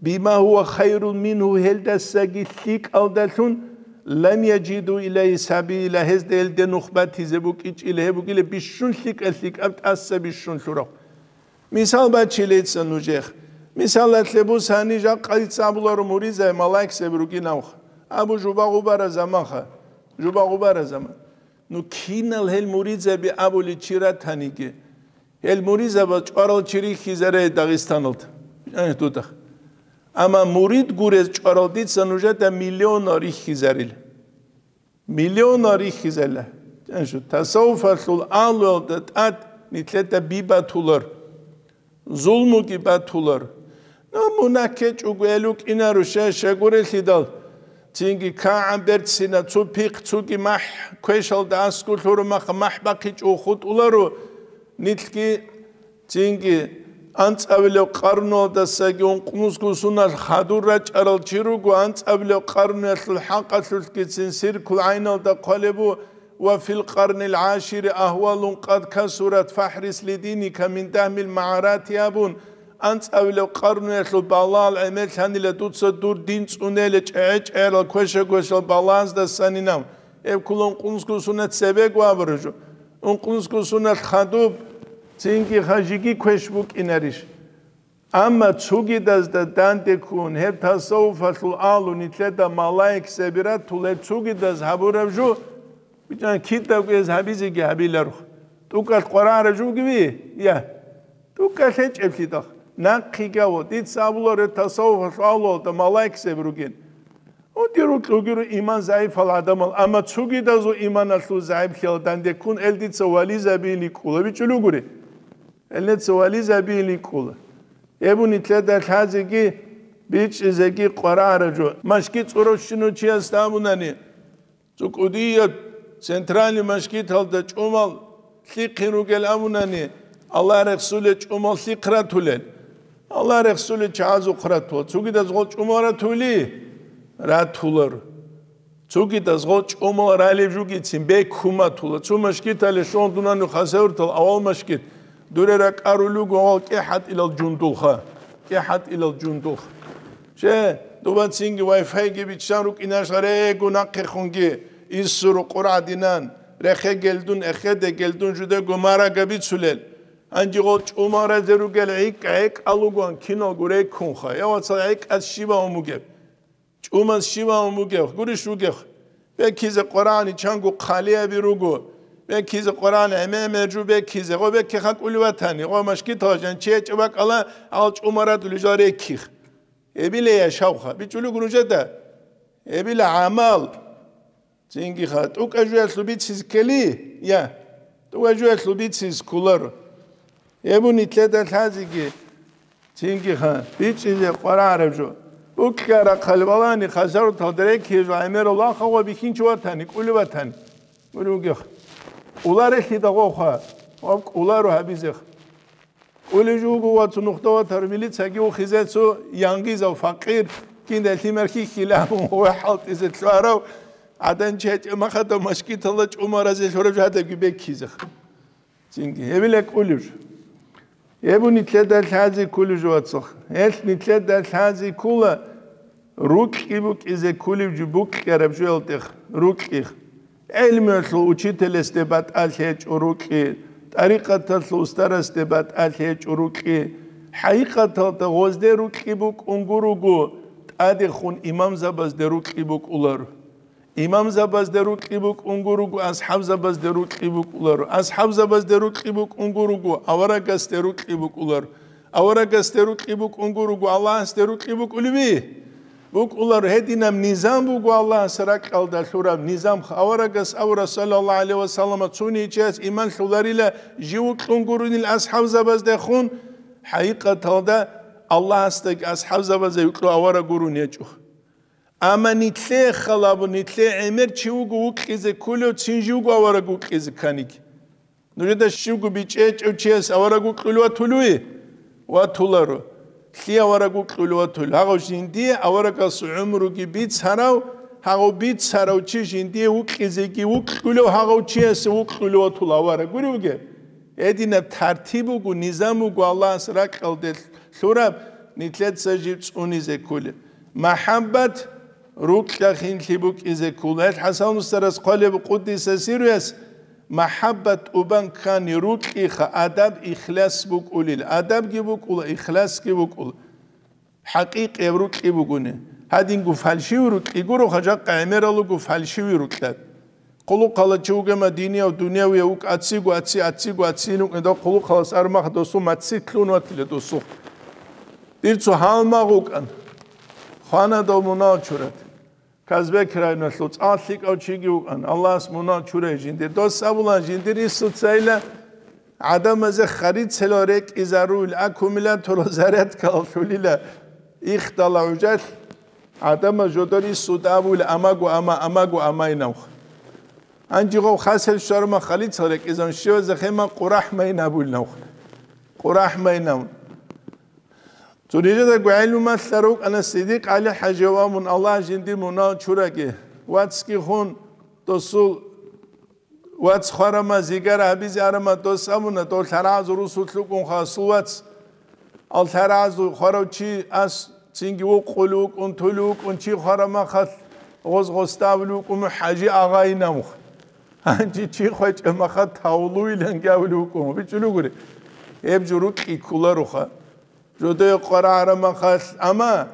«бима гьува хайрун мингьу», гьелдасаги лъикӀалдалъун, «лам яжиду илайгьи сабила», гьезда гьелде нух батизе букӀинчӀила, гьеб бугила бищун лъикӀа-лъикӀаб тӀаса бищун лъурав. Мисал бачилейца нужех. Мисалалъе бусани, жакъа дица абуларо муридзай малаикзаби ругинавха. Абу жуба гъубара заманха. Жуба гъубара заман. Ну кинал гьел муридзаби абули чи ратаниги, Гьел муридзабаз чӀварал чи рихьизаре Дагъистаналда. Э, дуда. Амма мурид гурез чӀварал дица нужеда миллионал рихьизарил. Миллионал рихьизарила. Э, шу, тасаввуфалъул агьлуялда тӀад нилъеда би батулар. Зулмуги батулар. Ну, мунагь ккечӀого гьел рукӀинаро, щай, щай гурелъидал, цинги кагӀан берцина, цо пихъ, цоги махӀ, квешалда аскӀор лъураб махъ махӀ бахъичӀого хутӀуларо, нилъги цинги анцӀабилеб къарнуялдасаги ункънусго соналъ хадур рачӀарал чи руго, анцӀабилеб къарнуялъул хӀакъалъулъгицин сиркул гӀайналда хъвалеб бу, «Ва фил къарнил гӀашири агьвалун къад касурат фахӀрис лидиника мин дагьмил магӀарати», абун, анцӀабилеб къарнуялъул балагьал гӀемерлъанила дуца дур дин цӀунела чӀегӀе-чӀегӀерал квеша-квешал балагьаздасанинав. Гьеб ккола ункънусго соналъ цебего абураб жо. Ункънусго соналъ хадуб, цинги хажиги квеш букӀинарищ? Амма цогидазда данде ккун, гьеб тасаввуфалъул агьлу нилъеда малаикзаби ратула, гьеб цогидаз гьабураб жо, бичӀчӀана кидаго гьез гьабизеги гьабиларо. ТӀукӀалъ къварагӀараб жо бугеби? Я. ТӀукӀалъ гьечӀеблъидал. Нахъеги гьаво, дица абуларо, тасаввуфалъул агьлуялда малаикзаби ругин. Гьудир рукьугиро иман загӀипал гӀадамал, амма цогидазул иманалъул загӀиплъиялда данде ккун, гьел дица вализабиин рикӀкӀула, бичӀчӀулев гури. Гьел дица вализабиин рикӀкӀула. Гьеб нилъеда лъазеги бичӀчӀизеги къварагӀараб жо. Машгит цӀурав щинав чиясда абунани, цо кӀудияб центральный машгиталда чӀумал лъихъин ругел абунани, Аллагь рехсулел чӀумал лъихъ ратулел. Аллагь рехсулел чагӀазухъ ратула. Цогидаз гъол чӀумал ратули? Ратулар. Цогидаз гъол чӀумал ралеб жугицин бекуматула. Цо машгитале щун дунани хасавюртал авал машгит. Дуре ракӀарулего гъол кӀехӀатӀилал жундулха. КӀехӀатӀилал жундулха. Че, дубацинги вай-файги биччан рукӀинаш гъарего нахъехунги, иссуру къургӀадинан, рехе гелдун, эхеде гелдун жудего марага бицулел. Гьанже гъол чӀумал разе ругел гӀикӀ-гӀекӀал ругоан киналго рекунха. Я вацал гӀекӀаз щиб гьавун бугеб? ЧӀумаз щиб гьавун бугеб? Гурищ вугев? Бекизе Къуръани чанго хъалиаби руго. Бекизе Къуръан гӀемер-гӀемер жо бекизе. Гъо бекиха кӀули ватани. Гъо машгитала жанчи гьечӀеб бакӀала гьал чӀумал радулел жал реких. Эбила яшавха. БичӀулего нужеда. Эбила гӀамал. Цинги ха, тӀукӀа жуялъул бицис ккели? Я, тӀукӀа жуялъул бицис кколаро. Гьеб нилъеда лъазеги, цинги ха, бичӀчӀизе къварагӀараб жо. БукӀарахъал балани хасавюрталда рекизе жо гӀемерал вахъа ва бихьинчи ватани, кӀули ватани. Гури вугех. Кьуларелъидал гъовха, ва кӀуларо гьабизех. КӀулев жуго ва цо нухда ватар милицаги ухизе цо янгизав факъир, кинда лъимер хьихьила абун ва хӀалтӀизе лъугьарав гӀадан чи гьечӀеб махадав машгитала чӀумал разе лъураб жо гьадабги беккизех. Цинги гьебила кӀулев жо. Гьеб нилъеда лъазе кколев жо, вацах. Гьелъ нилъеда лъазе ккола, рукьи букӀизе кколев жо букьараб жоялдех, рукьих. ГӀелмуялъул учителасде батӀалъи гьечӀо рукьи, тӀарикъаталъул устарасде батӀалъи гьечӀо рукьи. ХӀакъикъаталда гъозде рукьи букӀун гуруго, тӀадехун имамзабазде рукьи букӀулар. Имамзабазде рукьи букӀун гуруго, асхӀабзабазде рукьи букӀулар. АсхӀабзабазде рукьи букӀун гуруго, аварагасде рукьи букӀулар. Аварагасде рукьи букӀун гуруго, Аллагьасде рукьи букӀулеби? БукӀулар. Гьединаб низам буго Аллагьас ракьалда лъураб низам. Аварагас авура, саллаллагьу гӀалайгьи ва саллама, цуничияс иман лъуларила жив вукьун гурунил асхӀабзабаздехун, хӀакъикъаталда Аллагьасдаги асхӀабзабазда юкьу авараг гурун гьечӀо. Амма нилъее халабу, нилъее гӀемер чи вуго вукьизе кколев, цин живго авараг вукьизе кканиги. Нужеда щивго бичӀчӀичӀев чияс авараг вукьулев ватулуй? Ватуларо. Лъие авараг вукьулев ватулев? Гьагъав жиндие аварагасул гӀумруги бицарав, гьагъав бицарав чи жиндие вукьизеги вукьулев гьагъав чиясе вукьулев ватула авараг. Гури вугеб? Гьединаб тартиб буго, низам буго Аллагьас ракьалде лъураб, нилъеца жиб цӀунизе кколеб. МахӀаббат рукьа хинлъи букӀизе ккола. Гьел ХӀасан устарас хъвалеб, къуддиса сирруяс, махӀаббат тӀубан ккани рукьиха адаб, ихлас букӀулел. Адабги букӀула, ихласги букӀула. ХӀакъикъияб рукьи бугони. Гьадинго фальшивый рукьи гуро, хажакъа гӀемерал руго фальшивый рукьа. Хъулухъала чи вугема динияв, дунявияв вукӀа, аццигу, ацци, аццигу, ацци вукӀин, дов хъулухъалас армах досул мацци лъун ватила досул. Дир цо гьалмагъ вукӀан. Хвана дов мунагьал чурат. Казбек районалъул цӀакъ лъикӀав чиги вукӀан. Аллагьас мунагьал чурай жиндир. Дос абула жиндир инсуцайила гӀадамазе харицелал рекӀизарул аккумуляторал зарядкалал лъулила ихдала гӀужалъ. ГӀадамаз жодор инсуда абула амагу ама, амагу амайнавха. Гьанжи гъов хасел шарма халицал рекӀизан щивазе хема къурахӀ майин абулнавха. КъурахӀ майнавун. Цо нижедаго гӀелму малъа рукӀана Сидикъ ГӀали ХӀажи ва мун Аллагь жинди мунагьал чураги. Вацги хун досул вац хварама, зигара гьабизе арама дос абуна, дов лъарагӀазул русулъ вукӀун хасул вац. Ал лъарагӀазул хварав чи ас цинги вукъулев вукӀун, тулев вукӀун, чи хварамахалъ гъоз гъоставлев вукӀун ХӀажи агъайинавха. Гьанже чи хвечӀеб маха тавлуилан гавлев вукӀун, бичӀулев гури. Гьеб жо рукьи кколароха. Жодое къварагӀараб махалъ, амма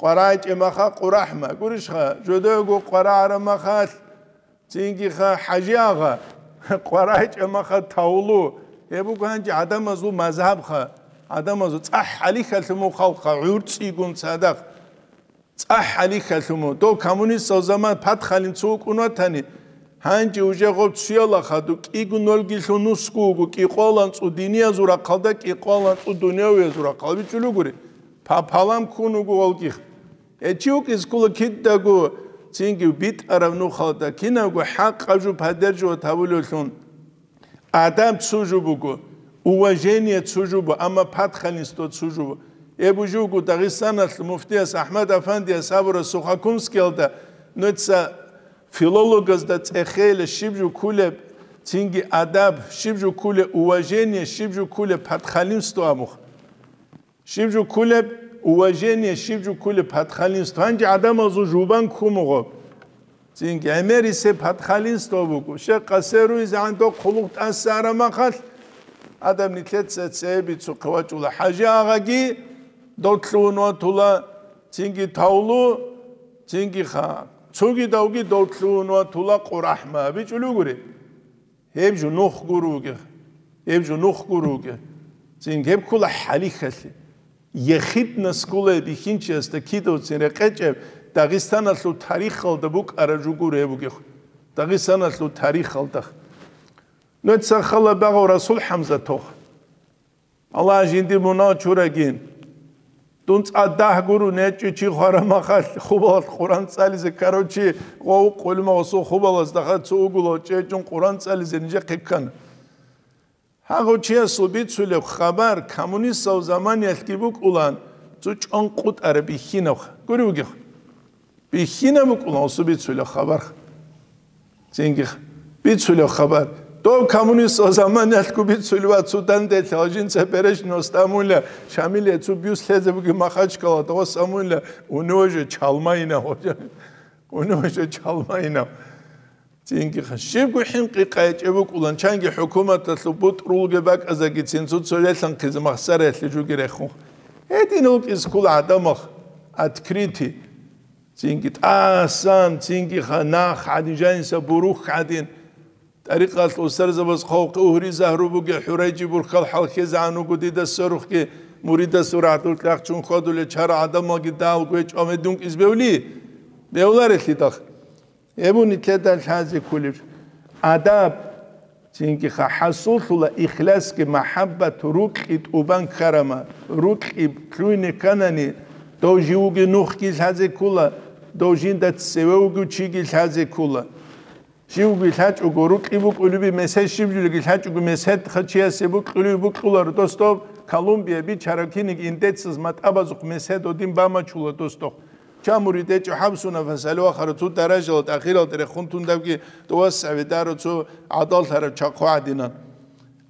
къварагӀичӀеб маха къурахӀма. Гурищха, жодоего къварагӀараб махалъ, цинги ха ХӀажи агъа, къварагӀичӀеб маха тавлу. Гьеб буго гьанже гӀадамазул мазгьабха, гӀадамазул цӀахӀ гьалихьалъумул халкъха, гӀурцӀигун цадахъ. ЦӀахӀ гьалихьалъуму, дов коммунистал заман патхалин цо вукӀун ватани, гьанже уже гъоб цуяла хадуб кӀиго нолгилъун нусгу вуго, кӀикъвалан цӀу диниязул рахъалда, кӀикъвалан цӀу дунявиязул рахъал бичӀулугури, папалам ккун вуго валгихъ. Гьечи вукӀиз ккола кидаго цинги битӀараб нухалда, кинабго хӀакъаб жо поддерживать гьабулевлъун. Адаб цо жо буго, уважение цо жо буго, амма патхалинство цо жо буго. Гьеб жо буго Дагъистаналъ муфтияс АхӀмад Афандияс абураб Сухокумскиялда нуца филологазда цӀехейила щиб жо кколеб, цинги адаб, щиб жо кколеб уважение, щиб жо кколеб патхалинство абухъ. Щиб жо кколеб уважение, щиб жо кколеб патхалинство. Гьанже гӀадамазул жубан ккумугъо. Цинги гӀемерисеб патхалинство буго. Щекъасе руйзегӀан доб хъулухъ тӀаса арамахалъ, гӀадам нилъеца цебе цо хъвачӀула. ХӀажи агъаги дов лъугьун ватула, цинги тавлу, цинги ха. Цогидавги дов лъугьун ватула къурахӀма. БичӀулугури. Гьеб жо нух гуруге, гьеб жо нух гуруге. Цин гьеб ккола хӀалихьалъе. Ехидна скулай бихьинчиясда кидавцин рекъечӀеб Дагъистаналъул тарихалда букӀараб жо гуро гьеб бугехъ. Дагъистаналъул тарихалда. Нуца хала багъав Расул ХӀамзатов. Аллагь жинди мунагь чурагин. Дун цӀадахъ гуру нечӀчӀи чи хварамахалъ хубалалъ Къуран цӀализе ккарав чи гъов къулмагъасул хубалаздаха цо угулав чӀечӀун Къуран цӀализе нижехъе ккана. Гьагъав чиясул бицулеб хабар коммунистал заманиялъги букӀулан, цо чӀван къутӀараб бихьинаб гури вугехъ. Бихьинаб букӀуна гъосу бицулеб хабар. Цинги бицулеб хабар. Дов коммунистал заманиялъго бицулев ва цо данделъал жинца перечного стамула, Шамиле цо бюст лъезе буги Махачкала, того самула, у него же чалмаина, у него же чалмаина. Цинги щибго хӀинкъи къайчӀеб букӀулан, чанги хӀукуматалъул бутӀрулги бакӀазаги цин цо-цо релъанхъизе махсараялъе жуги рехун. Гьедин вукӀиз ккола гӀадамах открытый. Цинги тӀасан, цинги ха нах гӀадин, жаниса бурух гӀадин. ТӀарикъалъ устарзабаз хъавухъе угьри-загьру бугел хӀурайчи бурхьал хӀалхьезегӀан вуго дида сверухъги, муридасул рагӀдул кьахчун хьвадулел чара гӀадамалги дагьал гвечӀо гьедин вукӀиз бевли? Бевларелъидал. Гьеб нилъеда лъазе кколеб. Адаб, цинги ха хӀасуллъула ихласги, махӀаббат, рукьи тӀубан ккарама, рукьи лъугьине кканани, дов живги нухги лъазе ккола, дов жинда цеве вугев чиги лъазе ккола. Живги лъачӀого, рукьи букӀулеби месед, щиб жулеги лъачӀого, месед хъачиясе букьулеби букьуларо, дос дов Колумбия бичараб киниг индецаз матӀабазухъ месед гьодин бамачула, дос дох. Чамури тӀечӀо хӀабсуна фасалуахара цо даражала тӀахирал тӀерехун тундавги тӀувас гӀавидаро цо гӀадаллъараб чахъу гӀадинан.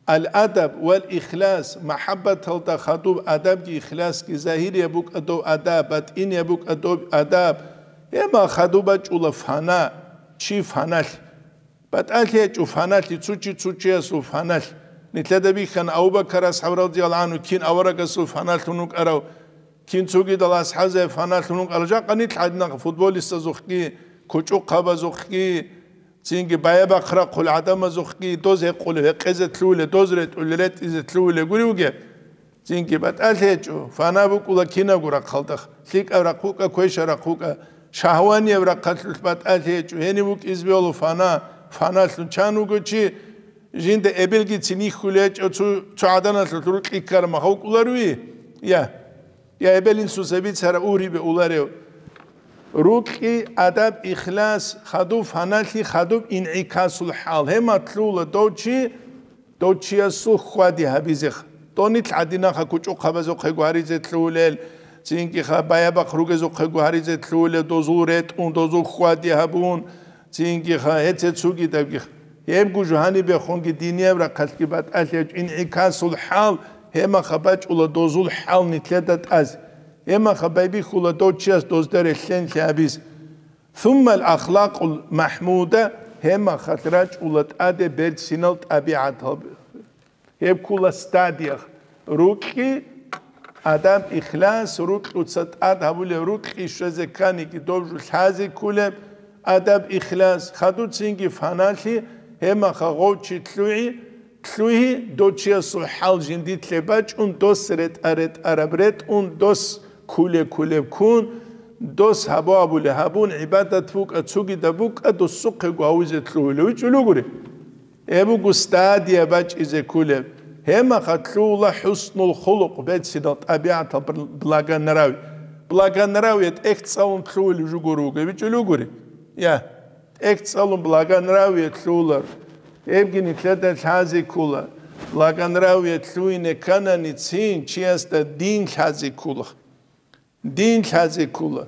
Ал-адаб вал ихлас, махӀаббаталда хадуб адабги ихласги, загьирияб букӀа дов адаб, батӀинияб букӀа дов адаб, гьема хадуб бачӀула фана, чи фаналъ. БатӀалъи гьечӀо фаналъи, цо чи цо чиясул фаналъ. Нилъеда бихьана Абу-Бакар асхӀаб радияллагьу гӀанхӀу кин аварагасул фаналъун вукӀарав, кин цогидал асхӀабзаб фаналъун вукӀарав, жакъа нилъ гӀадинахъ футболистазухъги, кучӀухъабазухъги, Цинги баябахъ рахъул гӀадамазухъги доз гьекъулев гьекъезе лъугьулел, доз ретӀулел ретӀизе лъугьулел гури вугеб. Цинги батӀалъи гьечӀо, фана букӀула кинабго рахъалда, лъикӀаб рахъ букӀа, квешаб рахъ букӀа, шагьванияб рахъалъулъ батӀалъи гьечӀо, гьениб букӀизе бегьула фана, фаналъун чан вуго чи, жинда эбелгицин йихьулел гьечӀо цо, цо гӀаданалъулъ рукьи ккараб мехалъ вукӀуларуй? Я. Я эбел-инсуца бицараб ургьибе уларев. Рукьи, адаб, ихлас, хадуб фаналъи, хадуб инъикасул хӀал. Гьеб мехалъ лъугьула дов чи, дов чиясул хьвади гьабизе. Дов нилъ гӀадинаха кучӀухъабазухъего гьаризе лъугьулел, цинги-ха баябахъ ругезухъего гьаризе лъугьулел, дозул ретӀун, дозул хьвади гьабун, цинги-ха гьеце цугидабги. Гьебго жо гьанибехунги динияб рахъалъги батӀалъи гьечӀо, инъикасул хӀал, гьеб мехалъ бачӀула дозул хӀал нилъеда тӀазе. Гьеб мехалъ байбихьула дов чияс дозда релълъен лъабизе. Суммал ахлакъул махӀмуда, гьеб мехалъ рачӀула тӀаде берцинал тӀабигӀатал. Гьеб ккула стадиях. Рукьи, адаб, ихлас, рукьуца тӀад гьабулеб, рукьи щвезе кканиги дов жо лъазе кколеб, адаб, ихлас, хадуб цинги фаналъи, гьеб мехалъ гъов чи лъугьи, лъугьи, дов чиясул хӀал жиндилъе бачӀун, дос ретӀа-ретӀараб ретӀун, дос кколеб-кколеб ккун, дос гьабу-гьабулеб гьабун, гӀибадат букӀа, цогидаб букӀа, досухъего гьавизе лъугьулев вичӀулев гури. Гьеб буго стадия бачӀизе кколеб. Гьеб мехалъ лъугьула хӀуснул хулукъ, берцинал тӀабигӀатал бл-, благонравие. Благонравие тӀехь цӀалун лъугьулев жо гуро вуго, бичӀулев гури? Я, тӀехь цӀалун благонравие лъугьулар. Гьебги нилъеда лъазе ккола. Благонравие лъугьине ккананицин чиясда дин лъазе ккола. Дин лъазе ккола.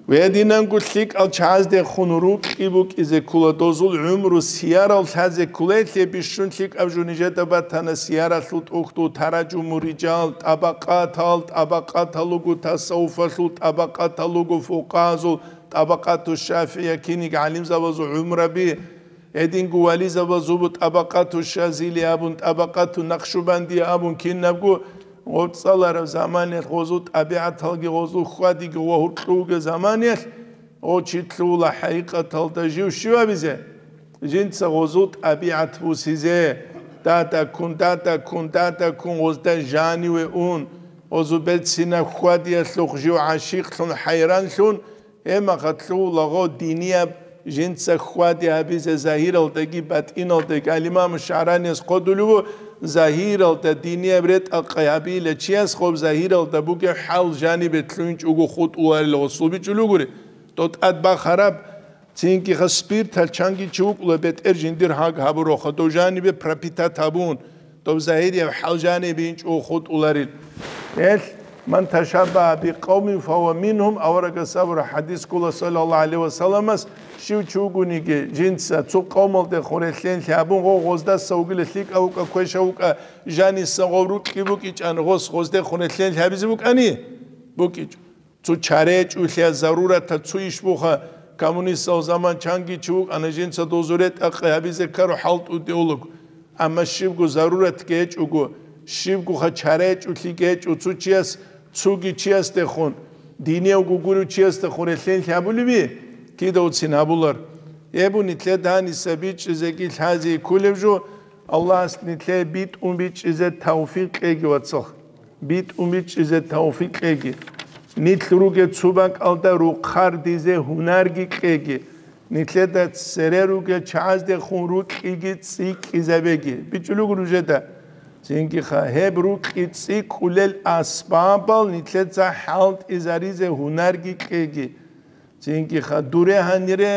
Гьединанго лъикӀал чагӀаздехун рукьи букӀизе ккола, дозул гӀумру сиярал лъазе ккола, гьелъие бищун лъикӀаб жо нижеда батана сияралъул тӀухьдул Тараджуму рижал, тӀабакъатал, тӀабакъатал руго тасаввуфалъул, тӀабакъатал руго фукъагьазул, ТӀабакъату ШафигӀия киниг гӀалимзабазул гӀумраби, гьединго вализабазул бу ТӀабакъату Шазили абун, ТӀабакъату Накъшубандия абун, кинабго гъоцӀалараб заманиялъ гъозул тӀабигӀаталги гъозул хьвадиги гъо гьуркьуге заманиялъ, гъо чи лъугьула хӀакъикъаталда жив щив абизе? Жинца гъозул тӀабигӀат бусизе, дадаккун, дадаккун, дадаккун гъозда жаниве ун, гъозул берцинаб хьвадиялъухъ жив гӀашикълъун, хӀайранлъун, Гьеб мехалъ лъугьула гъо динияб жинца хьвади гьабизе загьиралдаги батӀиналдаги. Ал-Имам ШагӀраниялъ хъодулев вуго, загьиралда динияб ретӀа-къай гьабила чияс гъоб загьиралда бугеб хӀал жанибе лъугьинчӀого хутӀуларел гъосул бичӀчӀулев гури. ТӀотӀад бахараб, цинги-ха спиртал чанги чи вукӀула бетӀер жиндир гьаг гьабуроха, дов жанибе пропитать гьабун. Доб загьирияб хӀал жанибе инчӀого хутӀуларил. Гьелъ, «Ман ташаббагьа бикъавмин, фагьува мингьум», аварагас абураб хӀадис ккола, саллаллагьу гӀалайгьи ва салламас, щив чи вугониги, жинца цо къавмалдехун релълъен лъабун, гъо гъоздаса вугила, лъикӀав вукӀа, квешав вукӀа, жаниса гъов рукьи букӀичӀан, гъос гъоздехун релълъен лъабизе букӀани? БукӀичӀо. Цо чара гьечӀолъиялъ зарураталъ цо иш буха, коммунистал заман чанги чи вукӀана, жинца дозул ретӀа-къай гьабизе ккараб хӀалтӀуде улуг. Амма щибго заруратги гьечӀого, щибгоха чара гьечӀолъиги гьечӀо цо чияс, цоги чиясдехун, динияв гугурев чиясдехун релълъен лъабулеби? Кидавцин гьабулар. Гьеб нилъеда гьаниса бичӀчӀизеги лъазе кколеб жо, Аллагьас нилъее битӀун бичӀчӀизе тавфикъ кьеги, вацал. БитӀун бичӀчӀизе тавфикъ кьеги. Нилъ ругел цо бакӀалда рухъардизе гьунарги кьеги. Нилъеда цере ругел чагӀаздехун рукьиги цӀикӀкӀизабеги. БичӀчӀулего нужеда. Цинги-ха, гьеб рукьи цӀикӀкӀулел асбабал нилъеца хӀалтӀизаризе гьунарги кьеги. Цинги-ха, дуре гьанире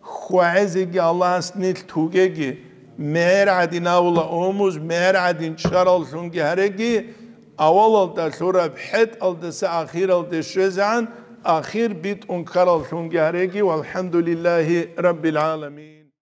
хьвагӀезеги Аллагьас нилъ тугеги, мегӀер гӀадин авула умуз, мегӀер гӀадин чӀараллъунги гьареги, авалалда лъураб хӀетӀалдаса ахиралде щвезегӀан, ахир битӀун ккараллъунги гьареги, валхӀамдулиллагьи раббил гӀаламин.